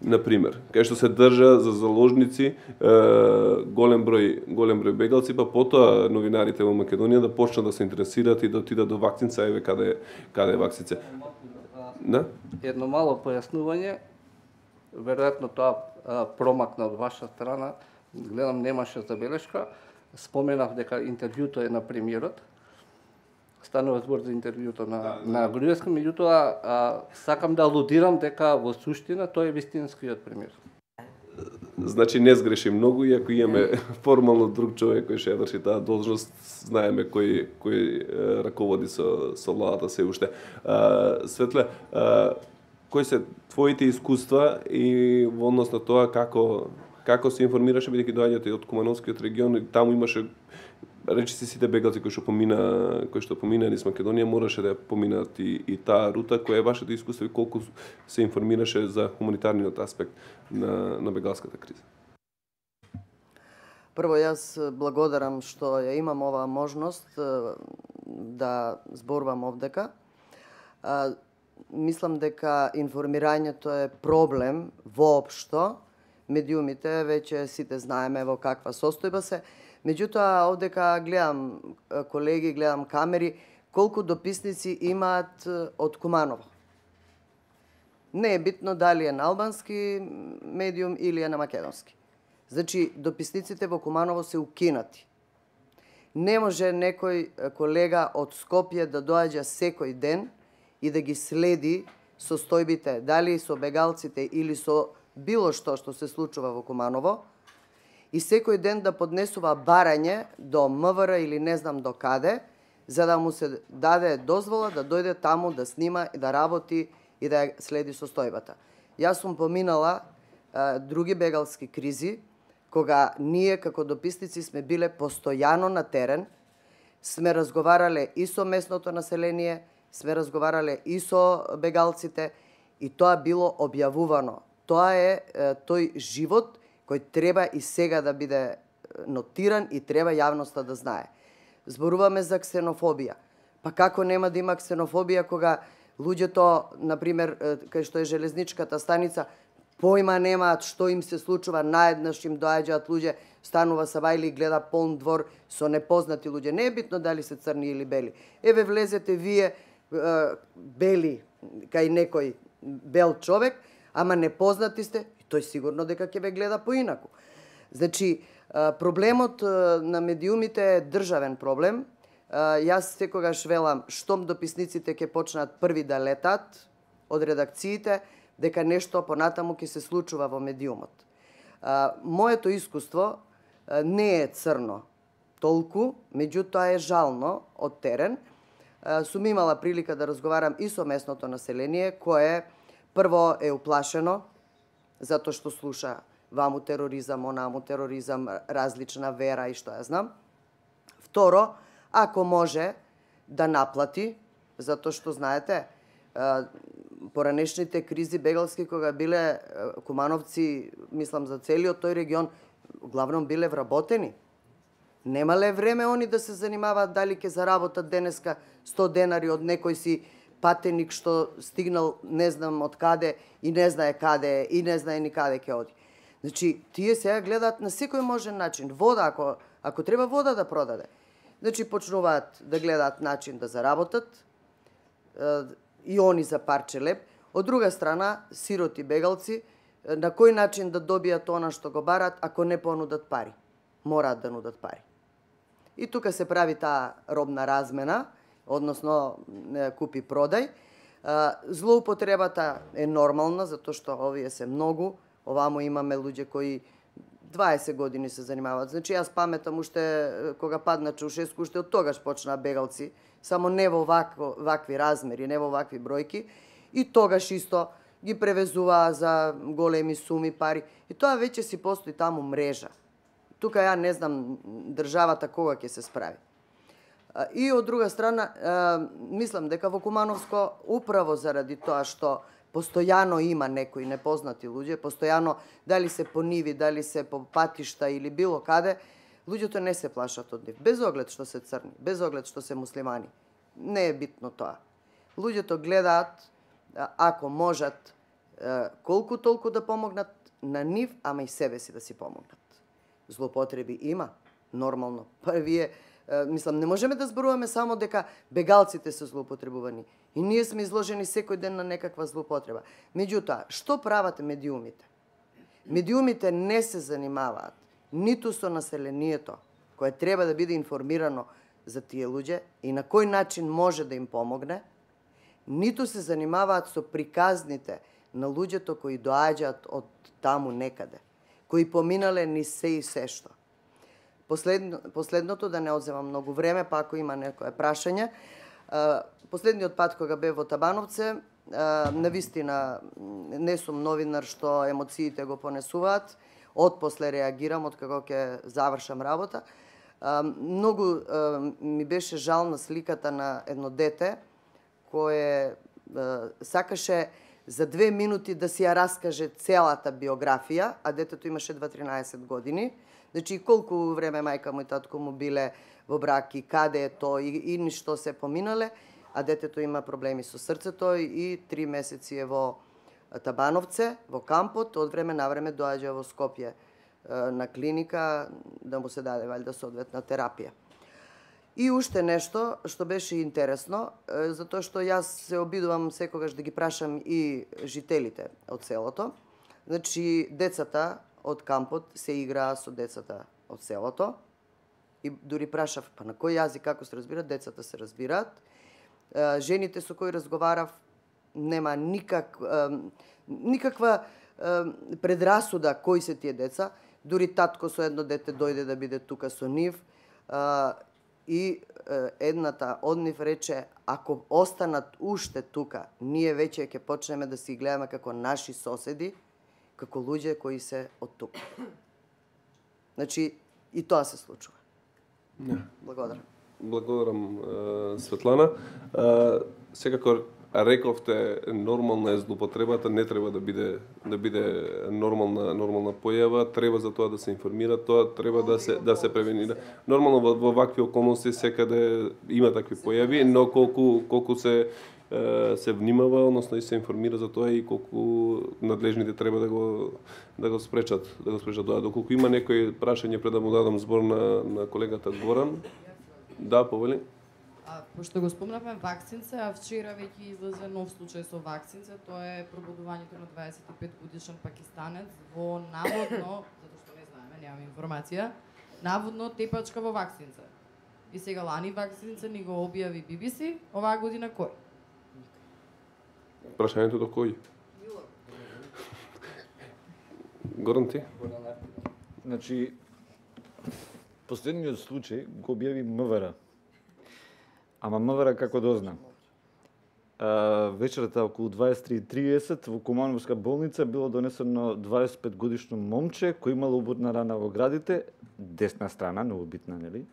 Например, кај што се држа за заложници е, голем број голем број бегалци, па потоа новинарите во Македонија да почнат да се интересираат и да отидат до Ваксинце, еве каде каде е Ваксинце. Да? Едно мало појаснување, веројатно тоа а, промакна од ваша страна, гледам немаше забелешка, споменав дека интервјуто е на премиерот, станува збор за интервјуто на, да, на Груевски, меѓутоа а, сакам да алудирам дека во суштина тој е вистинскиот премиер. Значи не сгреши многу, иако имаме формално друг човек кој ќе врши таа должност, знаеме кој кој е, раководи со со владата се уште. А, Светле, а, кои се твоите искуства и во однос на тоа како како се информираше, бидејќи доаѓате од Кумановскиот регион и таму имаше речиси сите бегалци кои што помина кои што помина низ Македонија мораше да поминат и, и таа рута, која е вашето искуство и колку се информираше за хуманитарниот аспект на на бегалската криза. Прво, јас благодарам што ја имам оваа можност да зборувам овдека. Мислам дека информирањето е проблем воопшто. Медиумите веќе сите знаеме во каква состојба се. Меѓутоа, овдека гледам колеги, гледам камери, колку дописници имаат од Куманово. Не е битно дали е на албански медиум или е на македонски. Значи, дописниците во Куманово се укинати. Не може некој колега од Скопје да доаѓа секој ден и да ги следи состојбите, дали со бегалците или со било што што се случува во Куманово, и секој ден да поднесува барање до МВР или не знам до каде, за да му се даде дозвола да дојде таму да снима и да работи и да следи состојбата. Јас сум поминала а, други бегалски кризи, кога ние како дописници сме биле постојано на терен, сме разговарале и со местното население, сме разговарале и со бегалците и тоа било објавувано. Тоа е, е тој живот кој треба и сега да биде нотиран и треба јавноста да знае. Зборуваме за ксенофобија. Па како нема да има ксенофобија кога луѓето, например, кај што е железничката станица, појма немаат што им се случува, наеднаш им доаѓаат луѓе, станува Сабајли и гледа полн двор со непознати луѓе. Не е битно дали се црни или бели. Еве влезете вие бели кај некој бел човек, ама непознати сте, тој сигурно дека ќе ве гледа поинаку. Значи, проблемот на медиумите е државен проблем. Јас секогаш велам, штом дописниците ќе почнат први да летат од редакциите, дека нешто понатаму ќе се случува во медиумот. Моето искуство не е црно толку, меѓутоа е жално од терен. Сум имала прилика да разговарам и со местното население, кое прво е уплашено, затоа што слуша ваму тероризам, онаму тероризам, различна вера и што ја знам. Второ, ако може да наплати, затоа што знаете, поранешните кризи бегалски кога биле кумановци, мислам за целиот тој регион, главном биле вработени. Немале време они да се занимаваат дали ќе заработат денеска сто денари од некој си патеник што стигнал не знам од каде и не знае каде и не знае ни каде ќе оди. Значи, тие сега гледаат на секој можен начин. Вода, ако, ако треба вода да продаде. Значи, почнуваат да гледаат начин да заработат и они за парче леп. Од друга страна, сироти бегалци, на кој начин да добијат она што го барат, ако не понудат пари? Мораат да нудат пари. И тука се прави таа робна размена, односно купи-продај. Злоупотребата е нормална, затоа што овие се многу. Овамо имаме луѓе кои дваесет години се занимаваат. Значи, јас паметам уште кога падна Чаушеску, уште од тогаш почнаа бегалци, само не во вакво, вакви размери, не во вакви бројки. И тогаш исто ги превезуваа за големи суми пари. И тоа веќе си постои таму мрежа. Тука ја не знам државата кога ќе се справи. И од друга страна, мислам дека во Кумановско, управо заради тоа што постојано има некои непознати луѓе, постојано дали се по ниви, дали се по патишта или било каде, луѓето не се плашат од нив, без оглед што се црни, без оглед што се муслимани. Не е битно тоа. Луѓето гледаат, ако можат, колку толку да помогнат на нив, ама и себе си да си помогнат. Злопотреби има, нормално. Па вие Мислам, не можеме да зборуваме само дека бегалците се злоупотребувани. И ние сме изложени секој ден на некаква злоупотреба. Меѓутоа, што прават медиумите? Медиумите не се занимаваат ниту со населението, кое треба да биде информирано за тие луѓе и на кој начин може да им помогне, ниту се занимаваат со приказните на луѓето кои доаѓаат од таму некаде, кои поминале ни се и се што. Последно, последното, да не одземам многу време, па ако има некое прашање, последниот пат кога бев во Табановце, навистина не сум новинар што емоциите го понесуваат, отпосле реагирам од како ќе завршам работа. Многу ми беше жал на сликата на едно дете кое сакаше за две минути да си ја раскаже целата биографија, а детето имаше дваесет години. Значи, колку време мајка му и татко му биле во брак и каде е тој и, и ништо се поминале, а детето има проблеми со срцето и три месеци е во Табановце, во кампот, од време на време доаѓа во Скопје на клиника да му се даде валјда соодветна терапија. И уште нешто што беше интересно, затоа што јас се обидувам секогаш да ги прашам и жителите од селото. Значи, децата од кампот се играа со децата од селото и дури прашав, па на кој јазик како се разбират, децата се разбираат. Жените со кои разговарав нема никак, никаква предрасуда кои се тие деца. Дури татко со едно дете дојде да биде тука со нив и едната од нив рече, ако останат уште тука, ние веќе ќе почнеме да си гледаме како наши соседи, како луѓе кои се од тука. Значи, и тоа се случува. Не. Благодарам. Благодарам, Светлана. Секако рековте, нормална е злоупотребата, не треба да биде да биде нормална нормална појава, треба за тоа да се информира, тоа треба да се да се превенира. Нормално во, во вакви околности секаде има такви појави, но колку колку се се внимава, односно и се информира за тоа и колку надлежните треба да го да го спречат, да го спречат тоа. Доколку има некои прашање пред да му дадам збор на на колегата Горан. Да, повели. А, пошто го спомнавме вакцинце, а вчера веќе излезе нов случај со вакцинце, тоа е пробудувањето на дваесет и пет годишен пакистанец во наводно, затоа што не знаеме, немаме информација, наводно тепачка во вакцинце. И сега лани вакцинце ни го објави Би Би Си, оваа година кој? Прашањето до кој? Горан ти? Значи, последниот случај го објави МВР. Ама МВР како дозна? А, вечерта околу дваесет и три и тридесет во Кумановска болница било донесено дваесет и пет годишно момче кој имало убодна рана во градите, десна страна, многу битна, нели?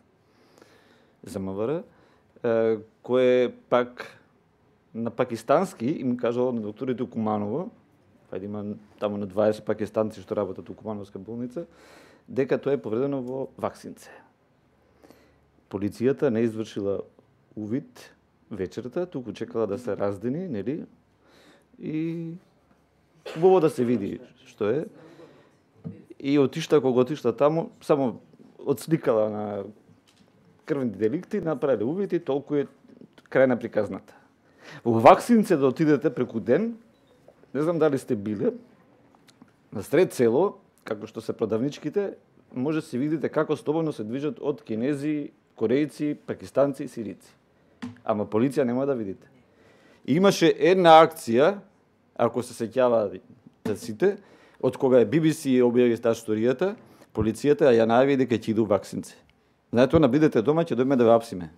За МВР, а, кое пак на пакистански им кажало на докторите у Куманово, ајде има таму на дваесет пакистанци што работат у Кумановска болница, дека тоа е повредено во вакцинце. Полицијата не извршила увид вечерта, туку чекала да се раздени, нели? И убаво да се види што е. И отишта, кога отишта таму, само отсликала на крвни деликти, направиле увид и толку е крај на приказната. Во вакцинце да отидете преку ден, не знам дали сте биле, на сред село, како што се продавничките, може да се видите како слободно се движат од кинези, корејци, пакистанци и сирици. Ама полиција нема да видите. И имаше една акција, ако се сеќаваат сите, од кога е Би Би Си објави таа сторијата, полицијата ја најави дека ќе иду вакцинци. Знаете, на бидете дома, ќе дојме да ве апсиме.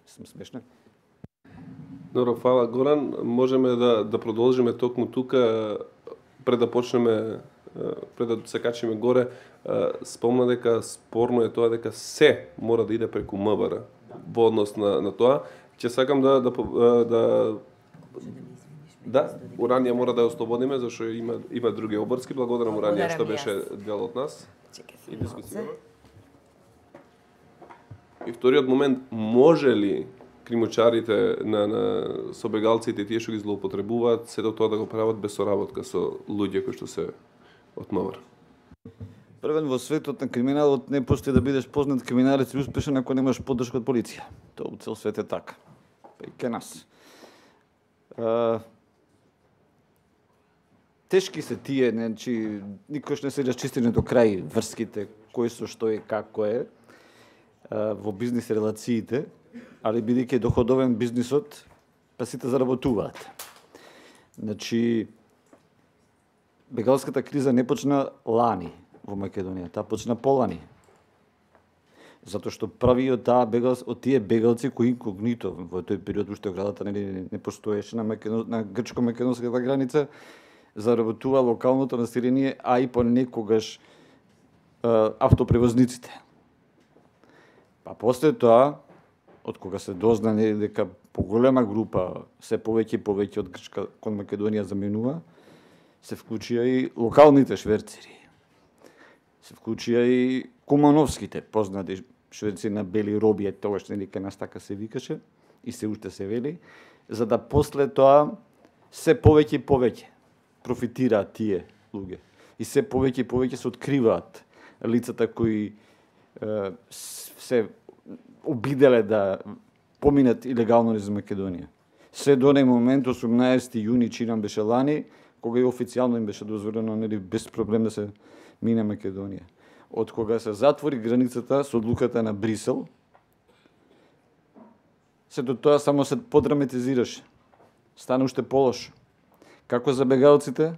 Сум смешна. Добро, фала Горан. Можеме да да продолжиме токму тука пред да почнеме пред да се качиме горе. Спомна дека спорно е тоа дека се мора да иде преку МВР во однос на на тоа. Ќе сакам да да да да Уранија мора да ја ослободиме зашто има има други обрски. Благодарам Уранија што беше дел од нас и дискусија. И вториот момент, може ли кримучарите на, на собегалците и тие што ги злоупотребуваат сето тоа да го прават без соработка со луѓе кои што се од МВР? Првен во светот на криминалот не постои да бидеш познат криминалец и успешен ако немаш поддршка од полиција. Тоа у цел свет е така. Па и ке нас. А, тешки се тие, значи никош не се расчистени до крај врските, кој со што е, како е а, во бизнис релациите, али бидејќи доходовен бизнисот, па сите заработуваат. Значи, бегалската криза не почна лани во Македонија, таа почна полани. Затоа што прави од таа бегал, од тие бегалци кои инкогнито во тој период уште оградата не, не постоеше на, Македон, на грчко-македонската граница, заработува локалното население, а и понекогаш автопревозниците. Па после тоа, од кога се дознане дека поголема група, се повеќе и повеќе од Грчка кон Македонија заминува, се вклучија и локалните шверцери. Се вклучија и кумановските, познати шверци на бели роби, тогаш нели кај нас така се викаше, и се уште се вели, за да после тоа се повеќе и повеќе профитираат тие луѓе. И се повеќе и повеќе се откриваат лицата кои е, се обиделе да поминат илегално низ Македонија. Се до оној момент, осумнаесети јуни, чинам беше лани, кога и официјално им беше дозволено нели без проблем да се мине Македонија. Од кога се затвори границата со одлуката на Брисел, се до тоа само се подраматизираше. Стана уште полошо. Како за бегалците,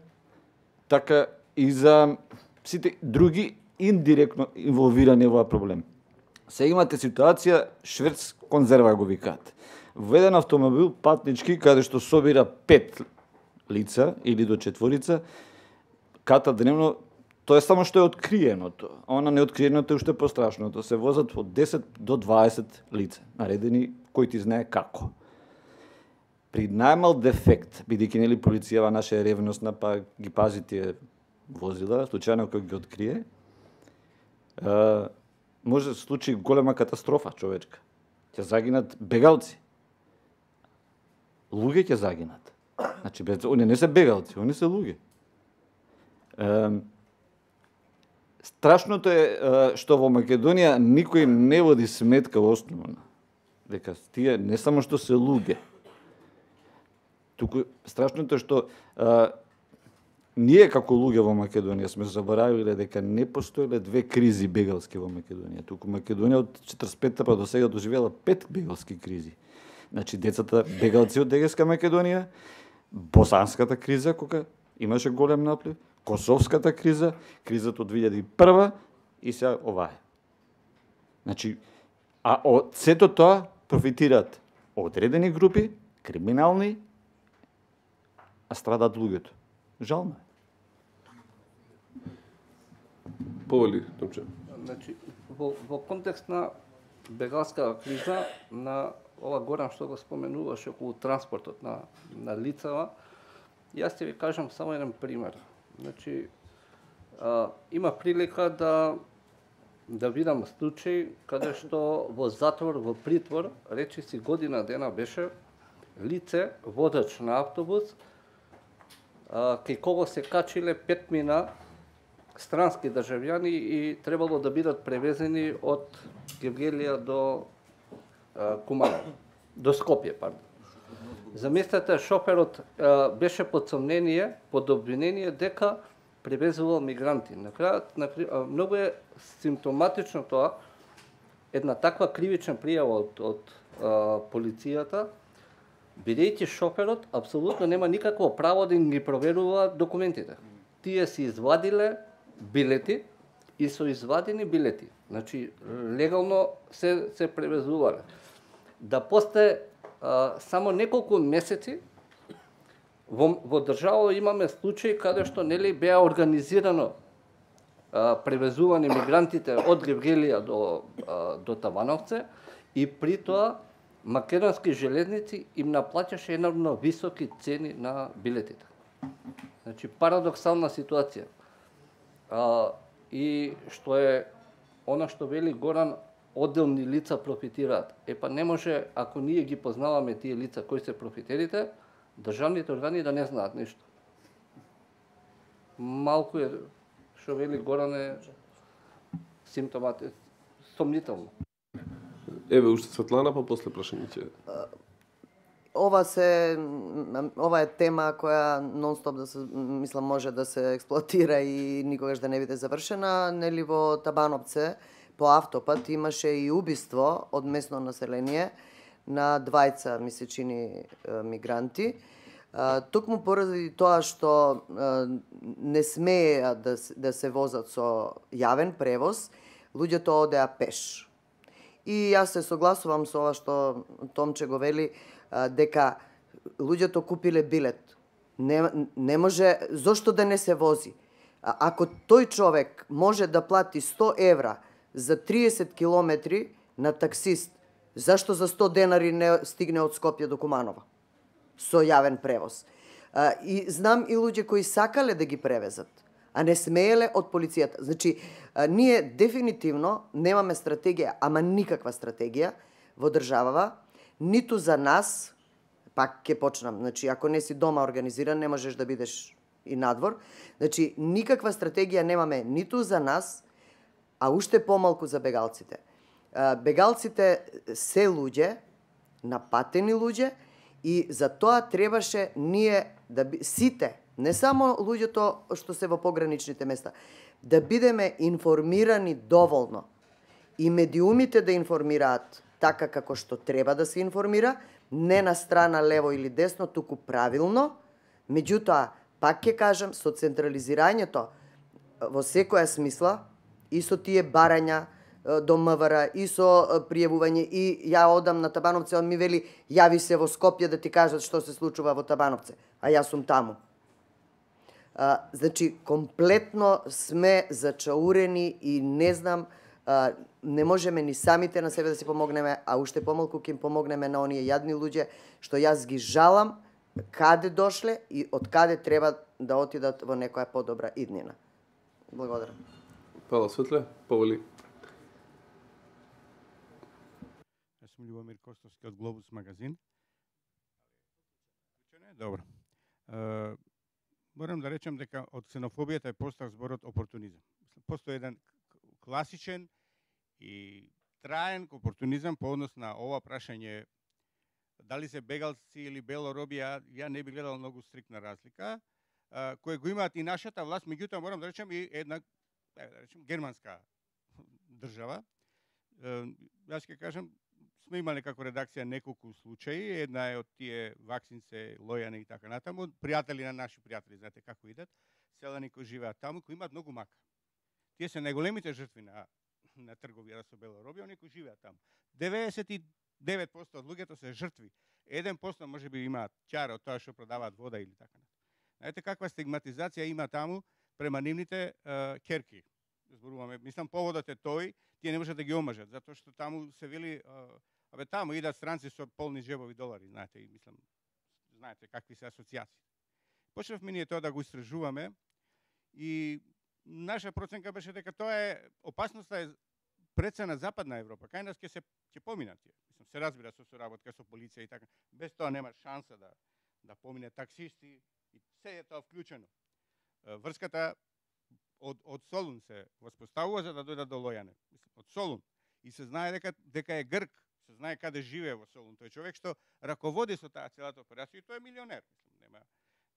така и за сите други индиректно инволвирани во оваа проблем. Се имате ситуација шверц конзерва го викаат. Во еден автомобил патнички каде што собира пет лица или до четворица, ката дневно, тоа е само што е откриеното. Она неоткриеното е уште пострашното. Се возат од десет до дваесет лица, наредени кој ти знае како. При најмал дефект, бидејќи нели полицијава наша е ревностна, па ги пази тие возила, случајно кој ги открие, е, може да се случи голема катастрофа човечка. Ќе загинат бегалци. Луѓе ќе загинат. Значи, они не се бегалци, они се луѓе. Е, страшното е, е што во Македонија никој не води сметка основна. Дека тие не само што се луѓе. Туку страшното е што е, ние како луѓе во Македонија сме заборавиле дека не постоеле две кризи бегалски во Македонија. Туку Македонија од четридесет и петта па до сега доживела пет бегалски кризи. Значи децата бегалци од Егејска Македонија, босанската криза кога имаше голем наплив, косовската криза, кризата од две илјади и прва и сега оваа. Значи, а од сето тоа профитираат одредени групи, криминални, а страдаат луѓето. Жално е. Повели, Томче. Значи, во, во контекст на бегалска криза, на ова Горан што го споменуваше околу транспортот на, на лицава, јас ќе ви кажам само еден пример. Значи, а, има прилика да да видам случај каде што во затвор, во притвор, речиси година дена беше лице, водач на автобус, а, кај кого се качиле петмина странски државјани и требало да бидат превезени од Гевгелија до а, Куманово, до Скопје, пардон. Замислете, шоферот а, беше под сомнение, под обвинение дека превезувал мигранти. На крајот, на, а, многу е симптоматично тоа, една таква кривична пријава од, од а, полицијата, бидејќи шоферот апсолутно нема никакво право да им ги проверува документите. Тие си извадиле билети и со извадени билети. Значи, легално се, се превезувале. Да после а, само неколку месеци во, во држава имаме случаи каде што нели беа организирано а, превезување мигрантите од Гевгелија до, а, до Тавановце и при тоа македонски железници им наплаќаше енормно високи цени на билетите. Значи, парадоксална ситуација. А, и што е она што вели Горан, одделни лица профитираат. Е па не може, ако ние ги познаваме тие лица кои се профитерите, државните органи да не знаат нешто. Малку е, што вели Горан е симптомати сомнително. Еве уште Светлана, па после прашање ќе. Ова се ова е тема која нонстоп да се мислам може да се експлоатира и никогаш да не биде завршена. Нели во Табановце по автопат имаше и убиство од местно население на двајца, ми се чини, мигранти. Токму поради тоа што не смееа да, да се возат со јавен превоз, луѓето одеа пеш. И јас се согласувам со ова што Томче го вели, дека луѓето купиле билет. Не, не може, зошто да не се вози? Ако тој човек може да плати сто евра за триесет километри на таксист, зашто за сто денари не стигне од Скопје до Куманово со јавен превоз? И знам и луѓе кои сакале да ги превезат, а не смееле од полицијата. Значи, ние дефинитивно немаме стратегија, ама никаква стратегија во државава, ниту за нас, пак ќе почнам, значи, ако не си дома организиран, не можеш да бидеш и надвор. Значи, никаква стратегија немаме ниту за нас, а уште помалку за бегалците. Бегалците се луѓе, напатени луѓе, и за тоа требаше ние да би, сите, не само луѓето што се во пограничните места, да бидеме информирани доволно и медиумите да информираат така како што треба да се информира, не на страна лево или десно, туку правилно. Меѓутоа, пак ќе кажам, со централизирањето во секоја смисла и со тие барања до МВР и со пријавување, и ја одам на Табановце, он ми вели јави се во Скопје да ти кажат што се случува во Табановце, а јас сум таму. А, значи, комплетно сме зачаурени и не знам, а, не можеме ни самите на себе да си помогнеме, а уште помалку ќе им помогнеме на оние јадни луѓе што јас ги жалам каде дошле и од каде треба да отидат во некоја подобра иднина. Благодарам. Фала, Светле, повели. Јас сум Љубомир Костовски од Глобус магазин. Добро. Uh, морам да речем дека од ксенофобијата е постав зборот опортунизам. Постои еден класичен и траен опортунизам по однос на ова прашање дали се бегалци или белороби, ја, ја не би гледал многу стриктна разлика, uh, кој го имаат и нашата власт, меѓутоа морам да речем и една, да речем, германска држава. Uh, јас ќе кажам, сме имале како редакција неколку случаи, една е од тие Ваксинце, Лојане и така натаму, пријатели на наши пријатели, знаете како идат, селани кои живеат таму, кои имаат многу мака. Тие се најголемите жртви на, на трговија со белороби, оние кои живеат таму. деветдесет и девет проценти од луѓето се жртви. еден процент може би имаат ќара од тоа што продаваат вода или така натаму. Знаете каква стигматизација има таму према нивните uh, керки. Зборуваме, мислам, поводот е тој, тие не можат да ги омажат, затоа што таму се вели uh, абе таму идат странци со полни джебови долари, знаете, и мислам, знаете какви се асоцијации. Почнавме ние тоа да го истражуваме и наша проценка беше дека тоа е опасноста е пред се на Западна Европа. Кај нас ќе се ќе поминат тие. Мислам, се разбира со соработка со полиција и така. Без тоа нема шанса да да помине таксисти и се е тоа вклучено. Врската од од Солун се воспоставува за да дојдат до Лојане. Мислам, од Солун. И се знае дека дека е грк. Се знае каде живее во Солун. Тој човек што раководи со таа целата операција и тој е милионер, мислам, нема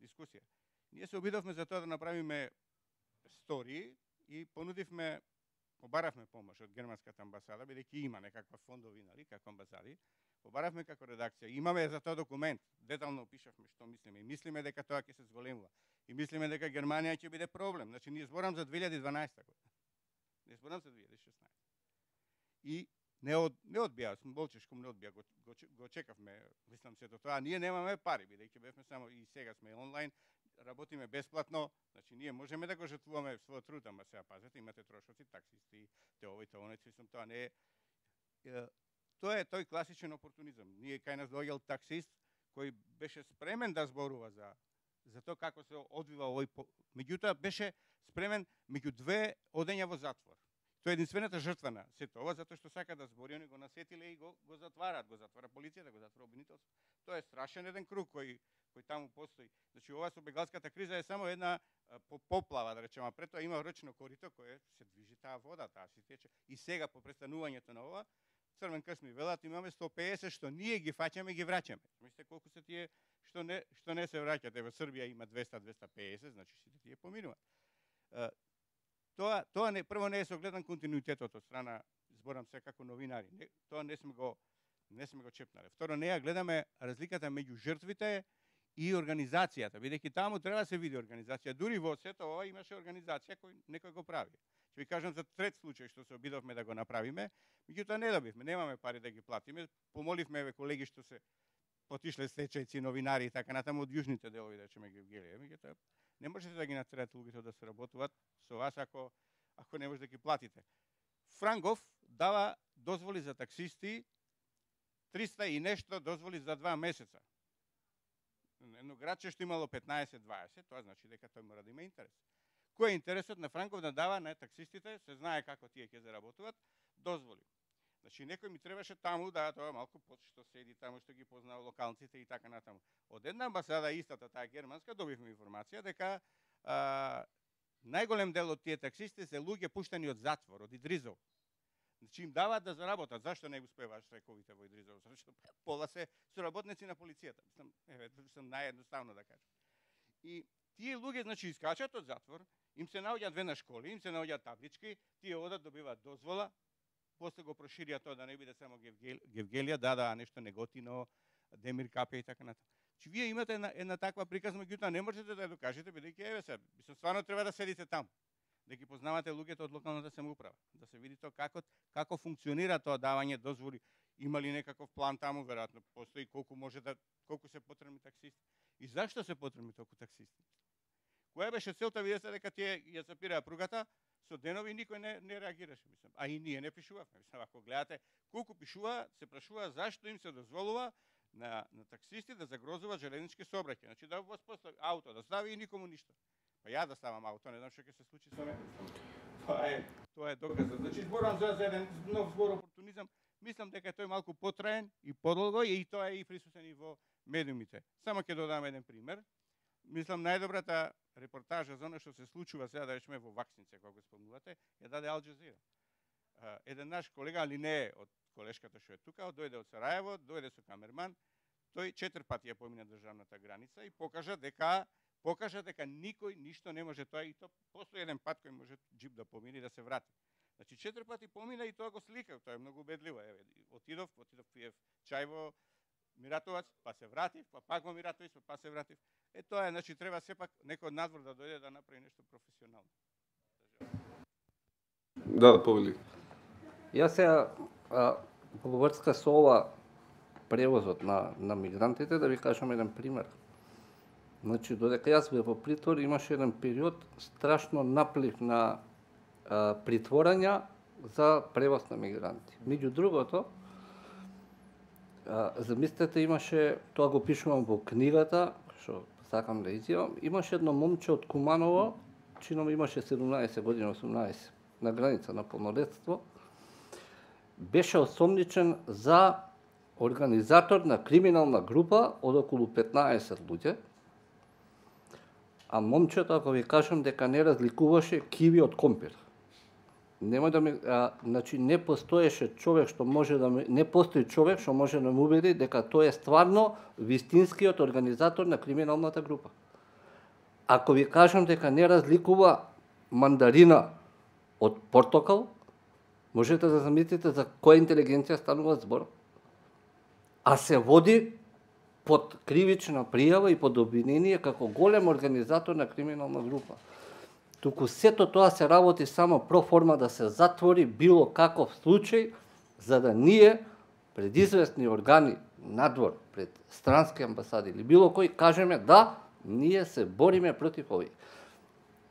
дискусија. Ние се обидовме за тоа да направиме стори и понудивме, побаравме помош од германската амбасада, бидејќи има некаква фондови, нали, како амбасади. Побаравме како редакција. Имаме за тоа документ. Детално опишавме што мислиме и мислиме дека тоа ќе се зголемува. И мислиме дека Германија ќе биде проблем. Значи ние зборам за две илјади и дванаесета година. Не зборам за две илјади и шеснаесета. И не од не одбија, сум болчешком не одбија, го, го, го чекавме, мислам се до тоа. Ние немаме пари, бидејќи бевме само и сега сме онлайн, работиме бесплатно, значи ние можеме да го жртвуваме својот труд, ама сега пазете, имате трошоци, таксисти, те овој, те оној, мислам тоа не е. Тоа е тој класичен опортунизам. Ние кај нас доаѓал таксист кој беше спремен да зборува за за тоа како се одвива овој, меѓутоа беше спремен меѓу две одења во затвор. Тоа е единствената жртва на сето ова, затоа што сака да збори, они го насетиле и го, го затвараат, го затвара полицијата, го затвара обвинителство. Тоа е страшен еден круг кој кој таму постои. Значи ова со бегалската криза е само една по поплава, да речеме, пред тоа има речно корито кое се движи таа вода, таа се тече. И сега по престанувањето на ова, Црвен крст ми велат имаме сто песет што ние ги фаќаме, ги враќаме. Мислите колку се тие што не што не се враќат. Ево Србија има двеста до двеста песет, значи сите тие поминуваат. Тоа тоа не прво не е согледан континуитетот од страна, зборам се како новинари. Не, тоа не сме го не сме го чепнале. Второ, не ја гледаме разликата меѓу жртвите и организацијата, бидејќи таму треба да се види организација. Дури во сето ова имаше организација кој некој го прави. Ќе ви кажам за трет случај што се обидовме да го направиме, меѓутоа не добивме, немаме пари да ги платиме. Помоливме еве колеги што се потишле стечајци, новинари и така натаму од јужните делови, да речеме Гевгелија. Меѓутоа не можете да ги натерате луѓето да се работуваат со вас ако ако не можете да ги платите. Франгов дава дозволи за таксисти триста и нешто дозволи за два месеца. Едно градче што имало петнаесет дваесет, тоа значи дека тој мора да има интерес. Кој е интересот на Франков да дава на таксистите, се знае како тие ќе заработуваат, дозволи. Значи некој ми требаше таму да тоа малку под што седи таму, што ги познава локалците и така натаму. Од една амбасада истата таа германска добивме информација дека а, најголем дел од тие таксисти се луѓе пуштени од затвор, од Идризов. Значи им даваат да заработат. Зашто не успеваат штрајковите во Идризов? Зашто пола се соработници на полицијата. Мислам, еве, сум наједноставно да кажам. И тие луѓе значи искачат од затвор, им се наоѓаат две на школи, им се наоѓаат таблички, тие одат добиваат дозвола, после го проширија тоа да не биде само Гевгел, Гевгелија, да, да, нешто Неготино, Демир Капе и така натаму. Че вие имате една, една таква приказна, меѓутоа не можете да ја докажете, бидејќи еве се, мислам стварно треба да седите таму, да ги познавате луѓето од локалната самоуправа, да се види тоа како како функционира тоа давање дозволи, има ли некаков план таму, веројатно постои колку може да колку се потребни таксисти и зашто се потребни толку таксисти. Која беше целта, видете дека тие ја запираа пругата, со денови никој не, не реагираше, мислам. А и ние не пишувавме. Мислам, ако гледате колку пишува, се прашува зашто им се дозволува на, на таксисти да загрозуваат железнички сообраќај. Значи да воспостави ауто, да стави и никому ништо. Па ја да ставам ауто, не знам што ќе се случи со мене. Тоа е, тоа е доказот. Значи зборам за еден нов збор опортунизам. Мислам дека тој малку потраен и подолго и тоа е и присутен и во медиумите. Само ќе додам еден пример. Мислам најдобрата репортажа за оно што се случува сега да речеме во Ваксинце, кога го спомнувате, ја даде Ал Џазира. Еден наш колега, али не е од колешката што е тука, дојде од Сараево, дојде со камерман, тој четири пати ја помина државната граница и покажа дека покажа дека никој ништо не може тоа и то постои еден пат кој може џип да помине и да се врати. Значи четири пати помина и тоа го сликав, тоа е многу убедливо. Еве, отидов, отидов пиев чај во Миратовац, па се вратив, па пак во Миратовиц, па се вратив. Е тоа е, значи треба сепак некој од надвор да дојде да направи нешто професионално. Да, да повели. Јас сега во врска со ова превозот на на мигрантите да ви кажам еден пример. Значи додека јас бев во притвор имаше еден период страшно наплив на а, притворања за превоз на мигранти. Меѓу другото, а, замислете имаше, тоа го пишувам во книгата, што сакам да изјавам, имаше едно момче од Куманово, чином имаше седумнаесет години, осумнаесет, на граница на полнолетство, беше осомничен за организатор на криминална група од околу петнаесет луѓе, а момчето, ако ви кажам, дека не разликуваше киви од компир. Нема да ми, а, значи не постоеше човек што може да ми, не постои човек што може да ме убеди дека тој е стварно вистинскиот организатор на криминалната група. Ако ви кажам дека не разликува мандарина од портокал, можете да замислите за која интелигенција станува збор. А се води под кривична пријава и под обвинение како голем организатор на криминална група. Туку сето тоа се работи само про форма да се затвори било каков случај, за да ние пред известни органи надвор, пред странски амбасади или било кој кажеме да, ние се бориме против овие.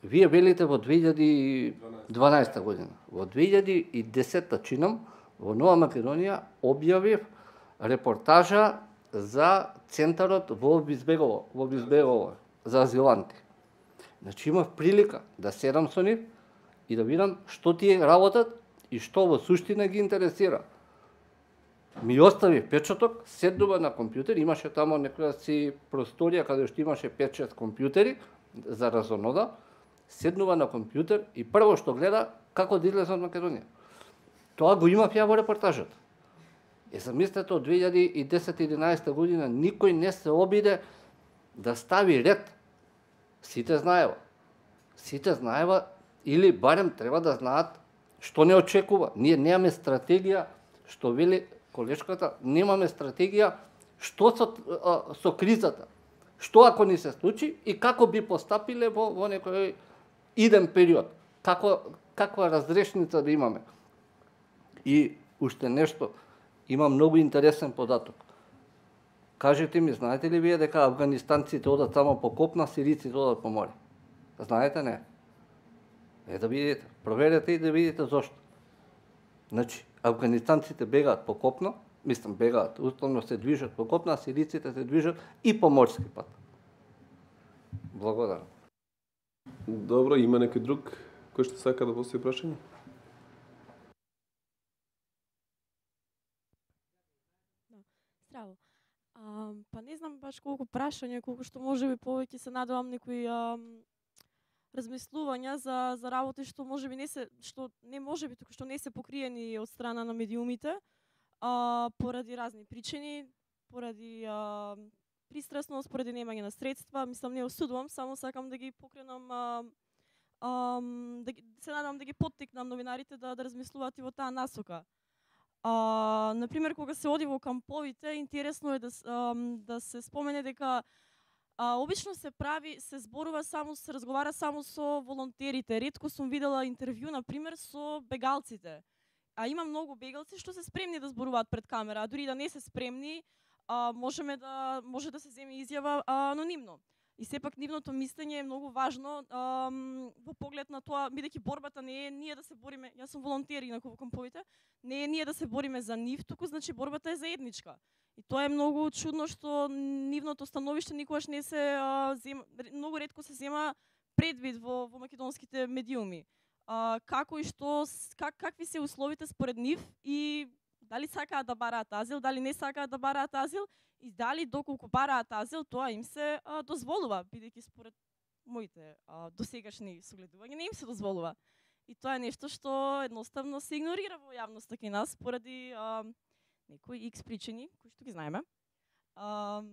Вие велите во две илјади и дванаесета година. Во две илјади и десета чинам во Нова Македонија објавив репортажа за центарот во Бизбегово, во Бизбегово за азиланти. Значи имав прилика да седам со нив и да видам што тие работат и што во суштина ги интересира. Ми остави печаток, седнува на компјутер, имаше тамо некоја си просторија каде што имаше пет шест компјутери за разонода, седнува на компјутер и прво што гледа како да излезе од Македонија. Тоа го имав ја во репортажата. Е, замислете, од две илјади и десета единаесета година никој не се обиде да стави ред. Сите знаева. Сите знаева или барем треба да знаат што не очекува. Ние немаме стратегија, што вели колешката, немаме стратегија што со, а, со кризата. Што ако ни се случи и како би постапиле во, во некој иден период. Како, каква разрешница да имаме. И уште нешто, има многу интересен податок. Кажете ми, знаете ли вие дека афганистанците одат само по копна, сириците одат по море? Знаете, не? Е да видите, проверете и да видите зошто. Значи, афганистанците бегаат по копно, мислам бегаат, уставно се движат по копна, а сириците се движат и по морски пат. Благодарам. Добро, има некој друг кој што сака да постави прашање? Здраво. А, па не знам баш колку прашања, колку што можеби повеќе се надевам некои а, размислувања за за работи што можеби не се што не можеби туку што не се покриени од страна на медиумите, а, поради разни причини, поради а, пристрасност, поради немање на средства. Мислам, не осудувам, само сакам да ги покренам, а, а, да ги, се надевам да ги поттикнам новинарите да да размислуваат и во таа насока. А, например, кога се оди во камповите, интересно е да, а, да се спомене дека а, обично се прави, се зборува само, се разговара само со волонтерите. Ретко сум видела интервју, например, со бегалците. А има многу бегалци што се спремни да зборуваат пред камера, а дури да не се спремни, а, можеме да може да се земе изјава а, анонимно. И сепак нивното мислење е многу важно а, во поглед на тоа, бидејќи борбата не е ние да се бориме, јас сум волонтер инаку во камповите, не е ние да се бориме за нив, туку значи борбата е заедничка. И тоа е многу чудно што нивното становиште никогаш не се а, зема, многу ретко се зема предвид во, во македонските медиуми. А, како и што, как, какви се условите според нив и дали сакаат да бараат азил, дали не сакаат да бараат азил, и дали доколку бараат азил, тоа им се а, дозволува, бидејќи според моите а, досегашни согледувања не им се дозволува. И тоа е нешто што едноставно се игнорира во јавноста кај нас поради а, некои икс причини, кои што ги знаеме. А,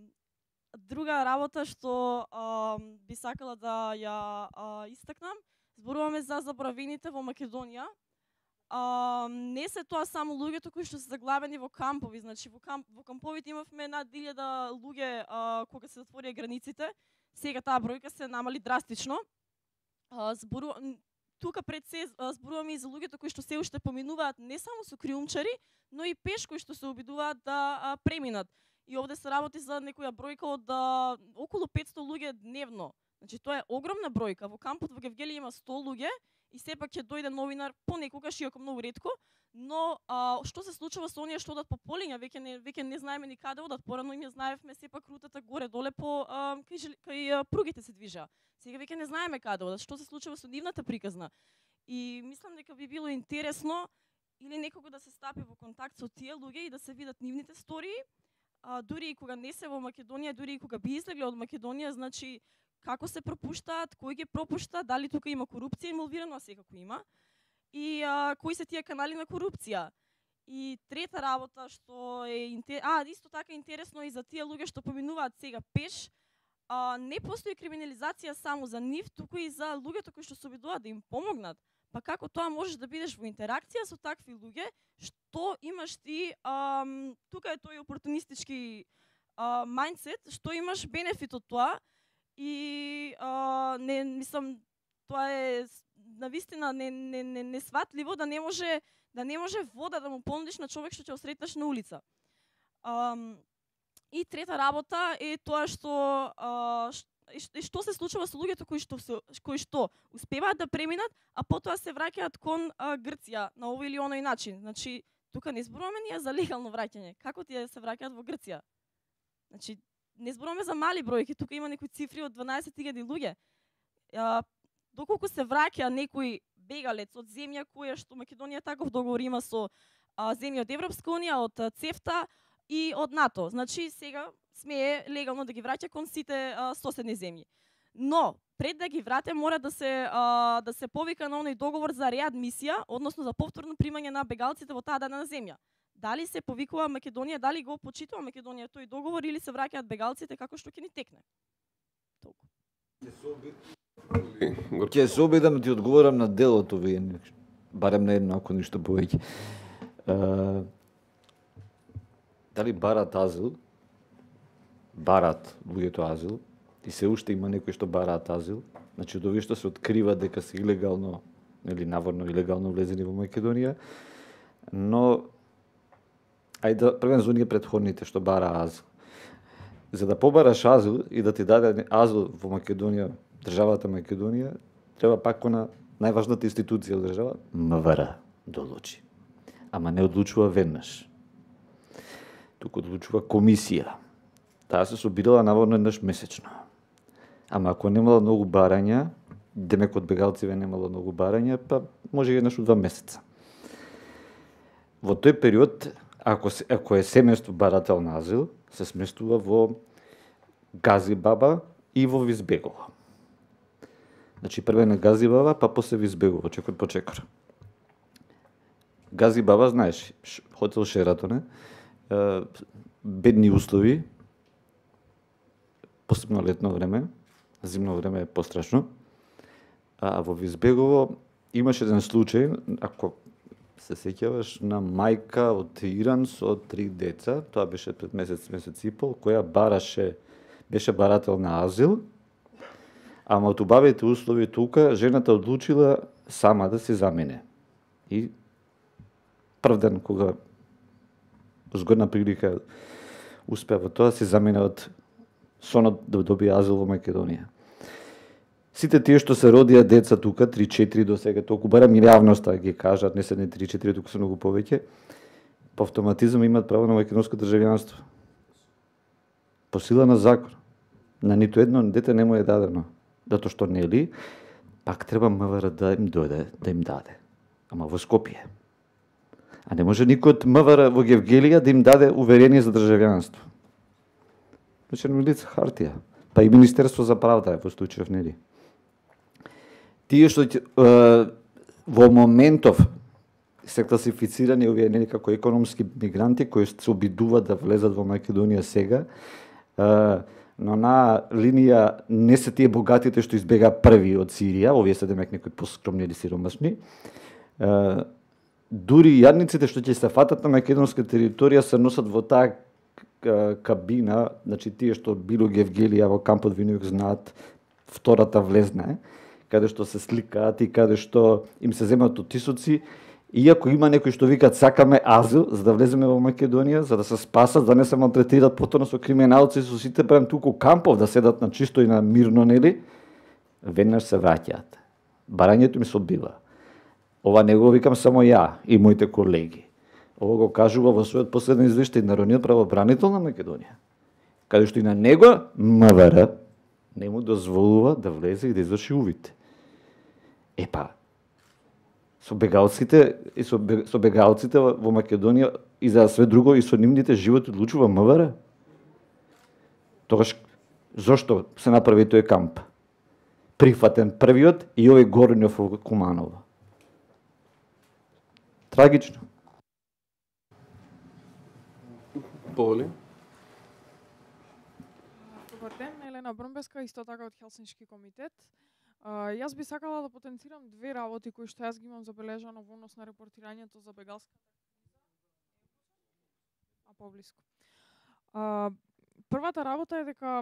друга работа што а, би сакала да ја а, истакнам, зборуваме за заборавените во Македонија. А, не се тоа само луѓето кои што се заглавени во кампови, значи во, камп, во камповите имавме над илјада луѓе а, кога се затворија границите. Сега таа бројка се намали драстично. А, збору... Тука пред се зборуваме и за луѓето кои што се уште поминуваат не само со криумчари, но и пеш кои што се обидуваат да а, преминат. И овде се работи за некоја бројка од а, околу петсто луѓе дневно. Значи тоа е огромна бројка. Во кампот во Гевгели има сто луѓе и сепак ќе дојде новинар понекогаш, иако многу ретко, но а, што се случува со оние што одат по полиња, веќе не веќе не знаеме ни каде одат. Порано им ја знаевме сепак рутата горе доле по а, кај, кај а, пругите се движеа. Сега веќе не знаеме каде одат. Што се случува со нивната приказна? И мислам дека би било интересно или некого да се стапи во контакт со тие луѓе и да се видат нивните стории, а, дури и кога не се во Македонија, дури и кога би излегле од Македонија, значи како се пропуштаат, кој ги пропушта, дали тука има корупција инволвирана, секако има, и а, кои се тие канали на корупција. И трета работа што е интер... а исто така интересно и за тие луѓе што поминуваат сега пеш, а, не постои криминализација само за нив, туку и за луѓето кои што се обидуваат да им помогнат. Па како тоа можеш да бидеш во интеракција со такви луѓе, што имаш ти, а, тука е тој опортунистички а, мајндсет, што имаш бенефит од тоа. И а, не мислам тоа е навистина не не не несватливо да не може да не може вода да му понудиш на човек што ќе осретнеш на улица. А, и трета работа е тоа што а, што, што се случува со луѓето кои што кои што успеваат да преминат, а потоа се враќаат кон а, Грција на овој или оној начин. Значи тука не зборуваме ние за легално враќање. Како тие се враќаат во Грција? Значи не зборуваме за мали бројки, тука има некои цифри од дванаесет илјади луѓе. А, доколку се враќа некој бегалец од земја која што Македонија таков договор има со а, земја од Европска унија, од ЦЕФТА и од НАТО. Значи сега смее легално да ги враќа кон сите а, соседни земји. Но пред да ги врате мора да се а, да се повика на оној договор за реадмисија, односно за повторно примање на бегалците во таа дадена земја. Дали се повикува Македонија, дали го почитува Македонија тој договор или се враќаат бегалците како што ќе ни текне? Толку. Ќе се обидам да ти одговорам на делото вие, барем на едно, ако ништо повеќе. Дали барат азил? Барат луѓето азил, и се уште има некои што бараат азил. Значи, од овие што се открива дека се илегално, или наводно илегално влезени во Македонија, но ајде да првен за оние претходните што бара азил. За да побараш азил и да ти даде азил во Македонија, државата Македонија, треба пак на најважната институција од држава, МВР, да одлучи. Ама не одлучува веднаш. Туку одлучува комисија. Таа се собирала наводно еднаш месечно. Ама ако немала многу барања, демек од бегалциве немало многу барања, па може и еднаш од два месеца. Во тој период, ако, се, ако е семејство барател на азил, се сместува во Гази Баба и во Визбегово. Значи, прве на Гази Баба, па после Визбегово, чекор по чекор. Гази Баба, знаеш, хотел Шератоне, бедни услови, посебно летно време, зимно време е пострашно. А во Визбегово имаше еден случај, ако се сеќаваш, на мајка од Иран со три деца, тоа беше пред месец, месец и пол, која бараше, беше барател на азил, ама од убавите услови тука, жената одлучила сама да се замене. И прв ден, кога згодна прилика успеа во тоа, се замене од сонот да добие азил во Македонија. Сите тие што се родија деца тука, три-четири до сега, толку барам и јавноста ги кажат, не се не три-четири, туку се многу повеќе, по автоматизам имаат право на македонско државјанство. По сила на закон. На ниту едно дете не му е дадено. Зато што нели, пак треба МВР да им дојде, да им даде. Ама во Скопје. А не може никој од МВР во Гевгелија да им даде уверение за државјанство. Значи, на лице хартија. Па и Министерство за правда е во случајов, нели? Тие што е, во моментов се класифицирани овие нели како економски мигранти кои се обидуваат да влезат во Македонија сега, е, но на линија не се тие богатите што избега први од Сирија, овие се демек некои поскромни или сиромашни. Е, дури јадниците што ќе се фатат на македонска територија се носат во таа кабина, значи тие што било Гевгелија во кампот Винојук знаат втората влезна, каде што се сликаат и каде што им се земаат оттисоци, иако има некои што викаат сакаме азил за да влеземе во Македонија, за да се спасат, да не се малтретираат повторно со криминалци, со сите прем туку кампов да седат на чисто и на мирно, нели, веднаш се враќаат. Барањето ми се одбива. Ова не го викам само ја и моите колеги. Ова го кажува во својот последен извештај Народниот правобранител на Македонија, каде што и на него МВР не му дозволува да влезе и да изврши увид. Епа, со бегалците и со, со бегалците во Македонија и за све друго и со нивните животи одлучува МВР. Тогаш зошто се направи тој камп? Прифатен првиот и овој Горњов во Куманово. Трагично. Поли? Добар ден, Елена Брнбеска, исто така од Хелсиншки комитет. Uh, јас би сакала да потенцирам две работи кои што јас ги имам забележано во однос на репортирањето за бегалската а поблиску. Uh, првата работа е дека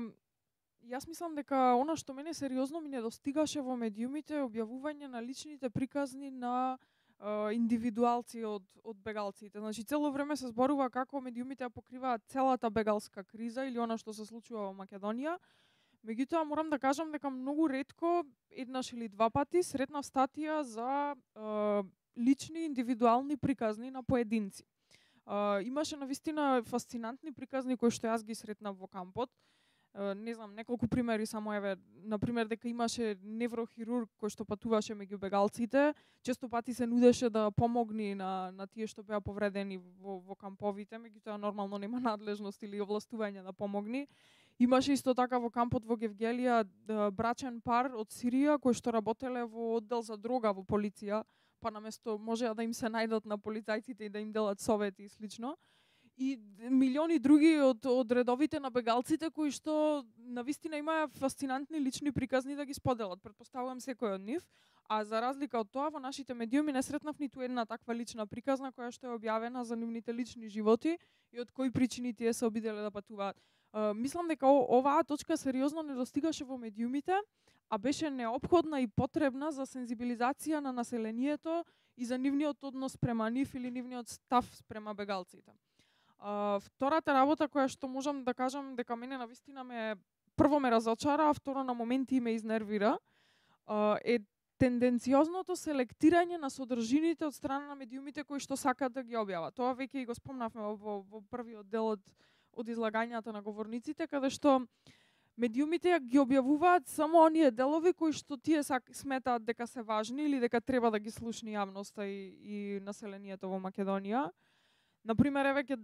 јас мислам дека она што мене сериозно ми недостигаше во медиумите е објавување на личните приказни на uh, индивидуалци од, од бегалците. Значи, цело време се зборува како медиумите ја покриваат целата бегалска криза или она што се случува во Македонија. Меѓутоа, морам да кажам дека многу ретко, еднаш или два пати, сретнав статија за е, лични, индивидуални приказни на поединци. Е, имаше навистина фасцинантни приказни кои што јас ги сретнав во кампот. Е, не знам, неколку примери само еве, например дека имаше неврохирург кој што патуваше меѓу бегалците, често пати се нудеше да помогне на на тие што беа повредени во, во камповите, меѓутоа нормално нема надлежност или овластување да помогне. Имаше исто така во кампот во Гевгелија брачен пар од Сирија кои што работеле во оддел за дрога во полиција, па наместо можеа да им се најдат на полицајците и да им делат совети и слично. И милиони други од, од редовите на бегалците кои што навистина имаа фасцинантни лични приказни да ги споделат. Претпоставувам секој од нив, а за разлика од тоа во нашите медиуми не сретнав ниту една таква лична приказна која што е објавена за нивните лични животи и од кои причини тие се обиделе да патуваат. Uh, мислам дека оваа точка сериозно не достигаше во медиумите, а беше неопходна и потребна за сензибилизација на населението и за нивниот однос према нив или нивниот став спрема бегалците. Uh, втората работа која што можам да кажам дека мене навистина ме прво ме разочара, а второ на моменти ме изнервира, uh, е тенденциозното селектирање на содржините од страна на медиумите кои што сакаат да ги објават. Тоа веќе и го спомнавме во, во првиот дел од од излагањата на говорниците, каде што медиумите ги објавуваат само оние делови кои што тие сметаат дека се важни или дека треба да ги слушни јавноста и, и населението во Македонија. Например, еве ке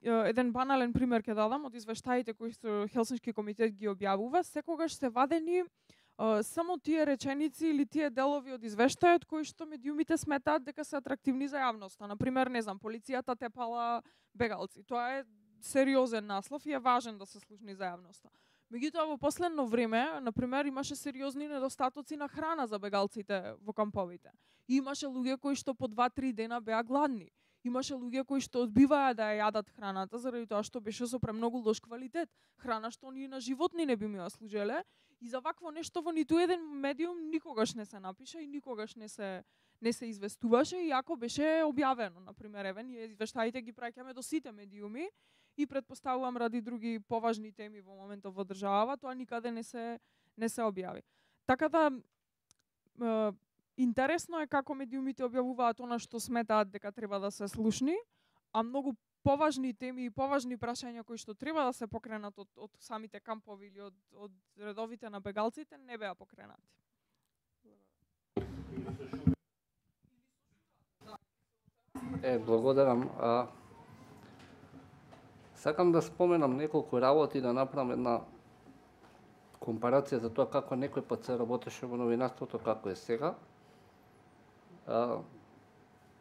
еден банален пример ќе дадам од извештаите кои што Хелсински комитет ги објавува, секогаш се вадени uh, само тие реченици или тие делови од извештајот кои што медиумите сметаат дека се атрактивни за јавноста. Например, не знам, полицијата тепала бегалци. Тоа е сериозен наслов и е важен да се слушни за јавноста. Меѓутоа во последно време, на пример, имаше сериозни недостатоци на храна за бегалците во камповите. И имаше луѓе кои што по два-три дена беа гладни. Имаше луѓе кои што одбиваа да ја јадат храната заради тоа што беше со премногу лош квалитет. Храна што ни на животни не би ми ја служеле. И за вакво нешто во ниту еден медиум никогаш не се напиша и никогаш не се не се известуваше, иако беше објавено. Например, еве, ние извештаите ги праќаме до сите медиуми и претпоставувам ради други поважни теми во моментот во државава, тоа никаде не се не се објави. Така да е, интересно е како медиумите објавуваат она што сметаат дека треба да се слушни, а многу поважни теми и поважни прашања кои што треба да се покренат од, од самите кампови или од, од редовите на бегалците не беа покренати. Е, благодарам. А, сакам да споменам неколку работи, да направам една компарација за тоа како некој пат се работеше во новинарството, како е сега. А,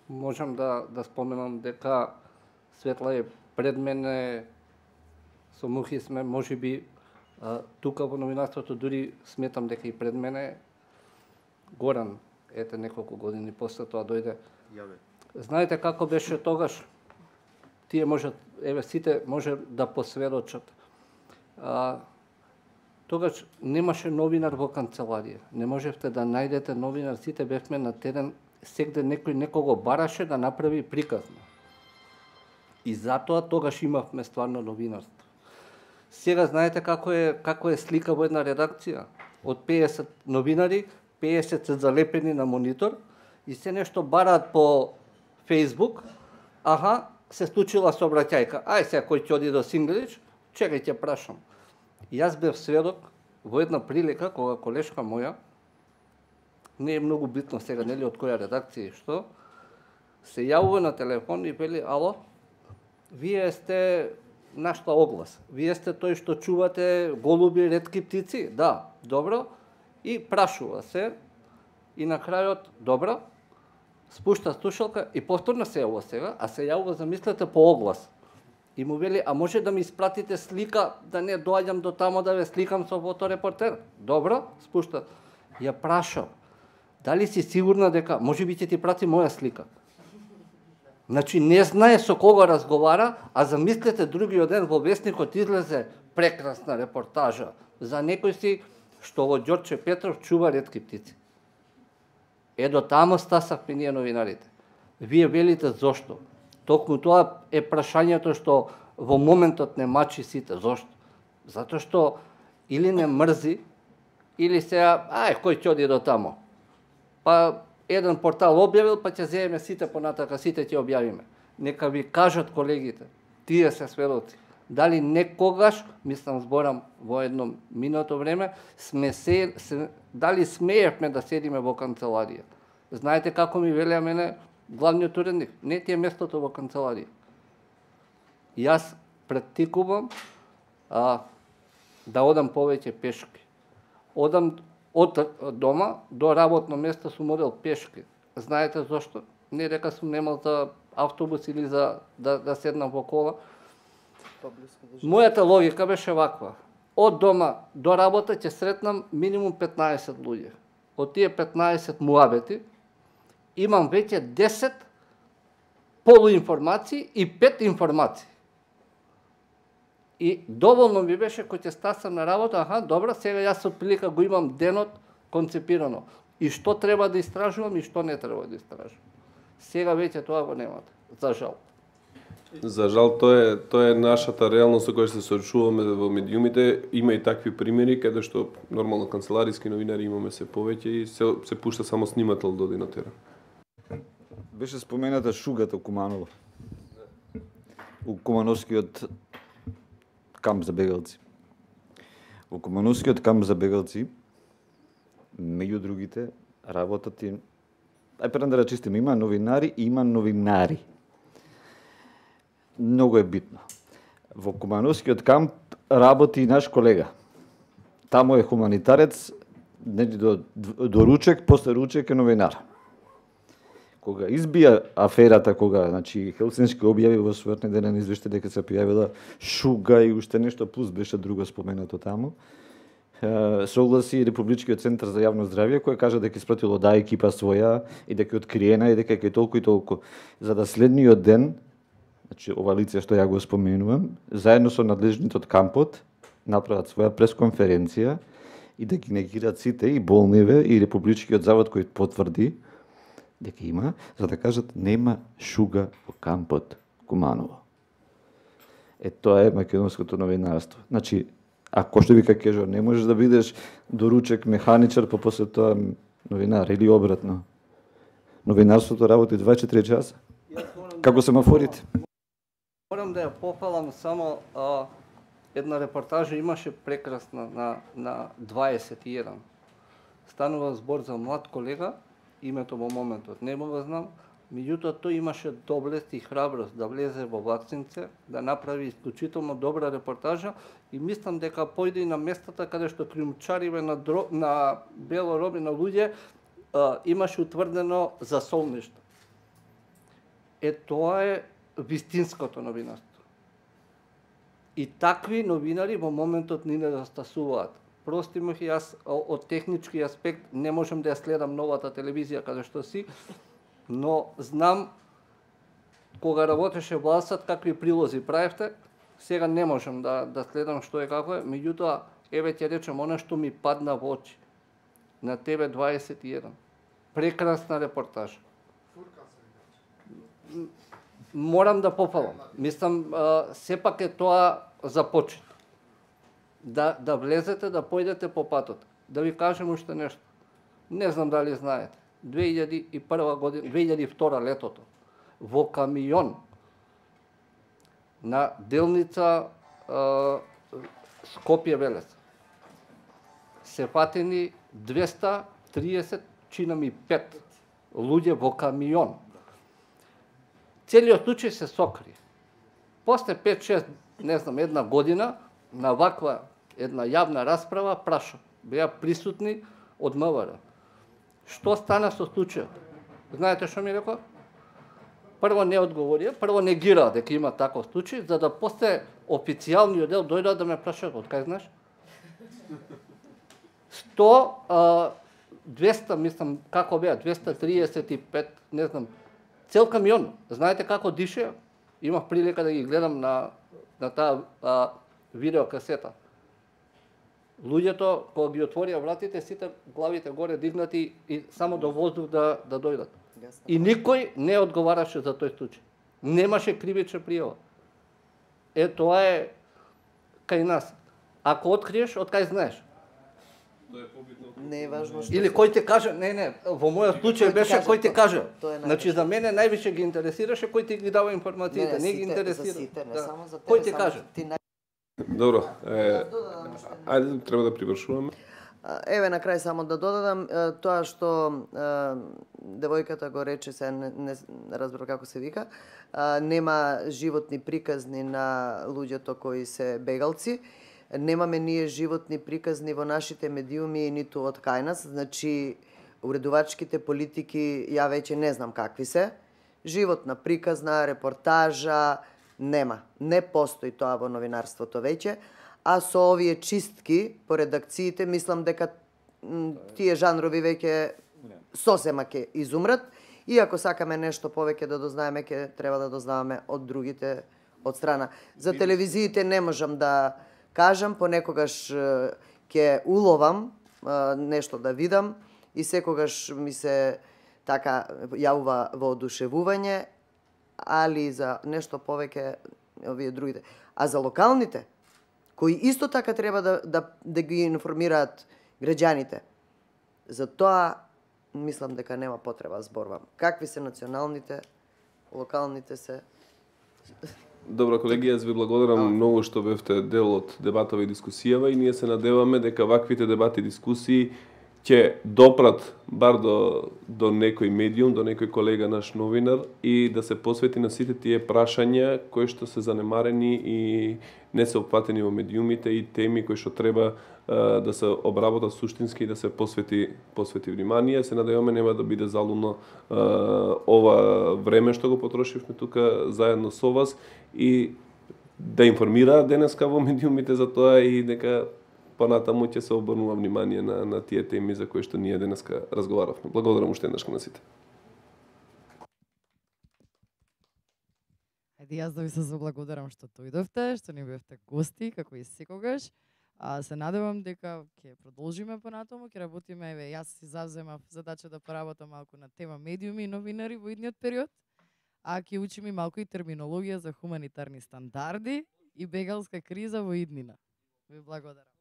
можам да, да споменам дека Светла е пред мене, со Мухи сме, може би, а, тука во новинарството, дури сметам дека и пред мене Горан, ете неколку години после тоа дојде. Јаве. Знаете како беше тогаш? Тие можат, еве сите може да посведочат. А, тогаш немаше новинар во канцеларија. Не можевте да најдете новинар, сите бевме на терен, сегде некој некого бараше да направи приказна. И затоа тогаш имавме стварно новинарство. Сега знаете како е како е слика во една редакција? Од пеесет новинари, пеесет се залепени на монитор и се нешто бараат по Facebook, аха, се случила сообраќајка. Ај сега кој ќе оди до Сингелич, чекај ќе прашам. И јас бев сведок во една прилика кога колешка моја, не е многу битно сега нели од која редакција и што, се јавува на телефон и вели: "Ало, вие сте нашла оглас. Вие сте тој што чувате голуби, ретки птици?" Да, добро. И прашува се и на крајот добро. Спушта слушалка и повторно се јавува сега, а се јавува, замислете, по оглас. И му вели: "А може да ми испратите слика, да не доаѓам до тамо да ве сликам со фоторепортер?" Добро, спушта. Ја прашав: "Дали си сигурна дека може би ќе ти прати моја слика?" Значи не знае со кого разговара, а замислете другиот ден во весникот излезе прекрасна репортажа за некој си што во Ѓорче Петров чува ретки птици. Е, до тамо стасавме ние новинарите. Вие велите зошто? Токму тоа е прашањето што во моментот не мачи сите. Зошто? Затоа што или не мрзи, или сега, ај, кој ќе оди до тамо? Па еден портал објавил, па ќе земеме сите понатака, сите ќе објавиме. Нека ви кажат колегите, тие се сведоци. Дали некогаш, мислам зборам во едно минато време, сме се, се дали смеевме да седиме во канцеларија. Знаете како ми велеа мене главниот уредник? Не ти е местото во канцеларија. Јас практикувам а, да одам повеќе пешки. Одам од дома до работно место сум одел пешки. Знаете зошто? Не дека сум немал за автобус или за да, да седнам во кола. Мојата логика беше ваква. Од дома до работа ќе сретнам минимум петнаесет луѓе. Од тие петнаесет муабети имам веќе десет полуинформации и пет информации. И доволно ми беше кој ќе стасам на работа, аха, добро, сега јас од прилика го имам денот концепирано. И што треба да истражувам и што не треба да истражувам. Сега веќе тоа го немате, за жал. За жал, тоа е, тоа е нашата реалност со која се соочуваме во медиумите. Има и такви примери, каде што нормално канцелариски новинари имаме се повеќе и се, се пушта само снимател да оди на терен. Беше спомената шугата Куманово. У Кумановскиот камп за бегалци. Во Кумановскиот камп за бегалци, меѓу другите, работат и... Ај пред да рачистим, има новинари и има новинари. Многу е битно. Во Кумановскиот камп работи и наш колега. Таму е хуманитарец, до, до ручек, после ручек е новинар. Кога избија аферата, кога значи Хелсински објави во својот неделен извештај дека се појавила шуга и уште нешто плюс беше друго споменато таму, согласи Републичкиот центар за јавно здравје кој кажа дека испратило да екипа своја и дека е откриена и дека е толку и толку. За да следниот ден, значи ова лице што ја го споменувам, заедно со надлежните од кампот направат своја пресконференција и да ги негираат сите и болниве и Републичкиот завод кој потврди дека има, за да кажат нема шуга во кампот Куманово. Е, тоа е македонското новинарство. Значи, ако што ви ка кажа, не можеш да бидеш доручек механичар, па после тоа новинар или обратно. Новинарството работи дваесет и четири часа. Како семафорите. Морам да ја похвалам само а, една репортажа имаше прекрасна на, на дваесет и еден. Станува збор за млад колега, името во моментот не го знам, меѓутоа тој имаше доблест и храброст да влезе во Влаксинце, да направи исклучително добра репортажа и мислам дека појде и на местата каде што криумчариве на, дро... на бело роби на луѓе а, имаше утврдено за солништо. Е, тоа е вистинското новинарство. И такви новинари во моментот ни недостасуваат. Прости му, јас од технички аспект не можам да ја следам новата телевизија каде што си, но знам кога работеше властот какви прилози правевте, сега не можам да да следам што е како е, меѓутоа еве ќе речем она што ми падна во очи на Т В дваесет и еден. Прекрасна репортажа. Морам да пофалам. Мислам сепак е тоа за почет. Да, да влезете, да појдете по патот. Да ви кажем уште нешто. Не знам дали знаете. две илјади и прва година, две илјади и втора летото, во камион на делница Скопје-Велес се фатени двеста триесет, чинам и пет луѓе во камион. Целиот случај се сокри. После пет-шест, не знам, една година, на ваква една јавна расправа, праша, беа присутни од М В Р. Што стана со случајот? Знаете што ми рекоа? Прво не одговорија, прво негираа дека има таков случај, за да после официјалниот дел дојдат да ме прашаат, од кај знаеш? сто, двеста, мислам, како беа, двеста триесет и пет, не знам, цел камион. Знаете како дише? Имав прилика да ги гледам на, на таа а, видеокасета. Луѓето, кога ги отворија вратите, сите главите горе дигнати и само до воздух да, да дојдат. И никој не одговараше за тој случај. Немаше кривична пријава. Е, тоа е кај нас. Ако откриеш, од кај знаеш? Не е важно што. Или кој ти каже, не, не, во мојот случај беше кој ти каже. Значи за мене највише ги интересираше кој ти ги дава информациите, не ги интересира. Кој ти каже? Добро, е, ајде треба да привршуваме. Еве на крај само да додадам тоа што девојката го рече, се не, не разбрав како се вика, нема животни приказни на луѓето кои се бегалци. Немаме ние животни приказни во нашите медиуми ниту од кај нас, значи уредувачките политики ја веќе не знам какви се. Животна приказна, репортажа, нема. Не постои тоа во новинарството веќе, а со овие чистки по редакциите мислам дека тие жанрови веќе сосема ќе изумрат и ако сакаме нешто повеќе да дознаеме, ќе треба да дознаваме од другите од страна. За телевизиите не можам да кажам, понекогаш ќе уловам нешто да видам и секогаш ми се така јавува воодушевување, али за нешто повеќе овие другите. А за локалните, кои исто така треба да, да, да ги информираат граѓаните, за тоа мислам дека нема потреба зборувам. Какви се националните, локалните се... Добро, колеги, јас ви благодарам многу што бевте дел од дебатава и дискусијава и ние се надеваме дека ваквите дебати и дискусии ќе допрат бар до, до некој медиум, до некој колега наш новинар и да се посвети на сите тие прашања кои што се занемарени и не се опфатени во медиумите и теми кои што треба uh, да се обработат суштински и да се посвети посвети внимание. Се надеваме нема да биде залумно uh, ова време што го потрошивме тука заедно со вас и да информираат денеска во медиумите за тоа и дека понатаму ќе се обрнува внимание на, на тие теми за кои што ние денеска разговаравме. Благодарам уште еднаш на сите. Ајде јас да ви се заблагодарам што дојдовте, што ни бевте гости, како и секогаш. А, се надевам дека ќе продолжиме понатаму, ќе работиме, еве, јас си завземав задача да поработам малку на тема медиуми и новинари во идниот период, а ќе учиме малку и терминологија за хуманитарни стандарди и бегалска криза во иднина. Ви благодарам.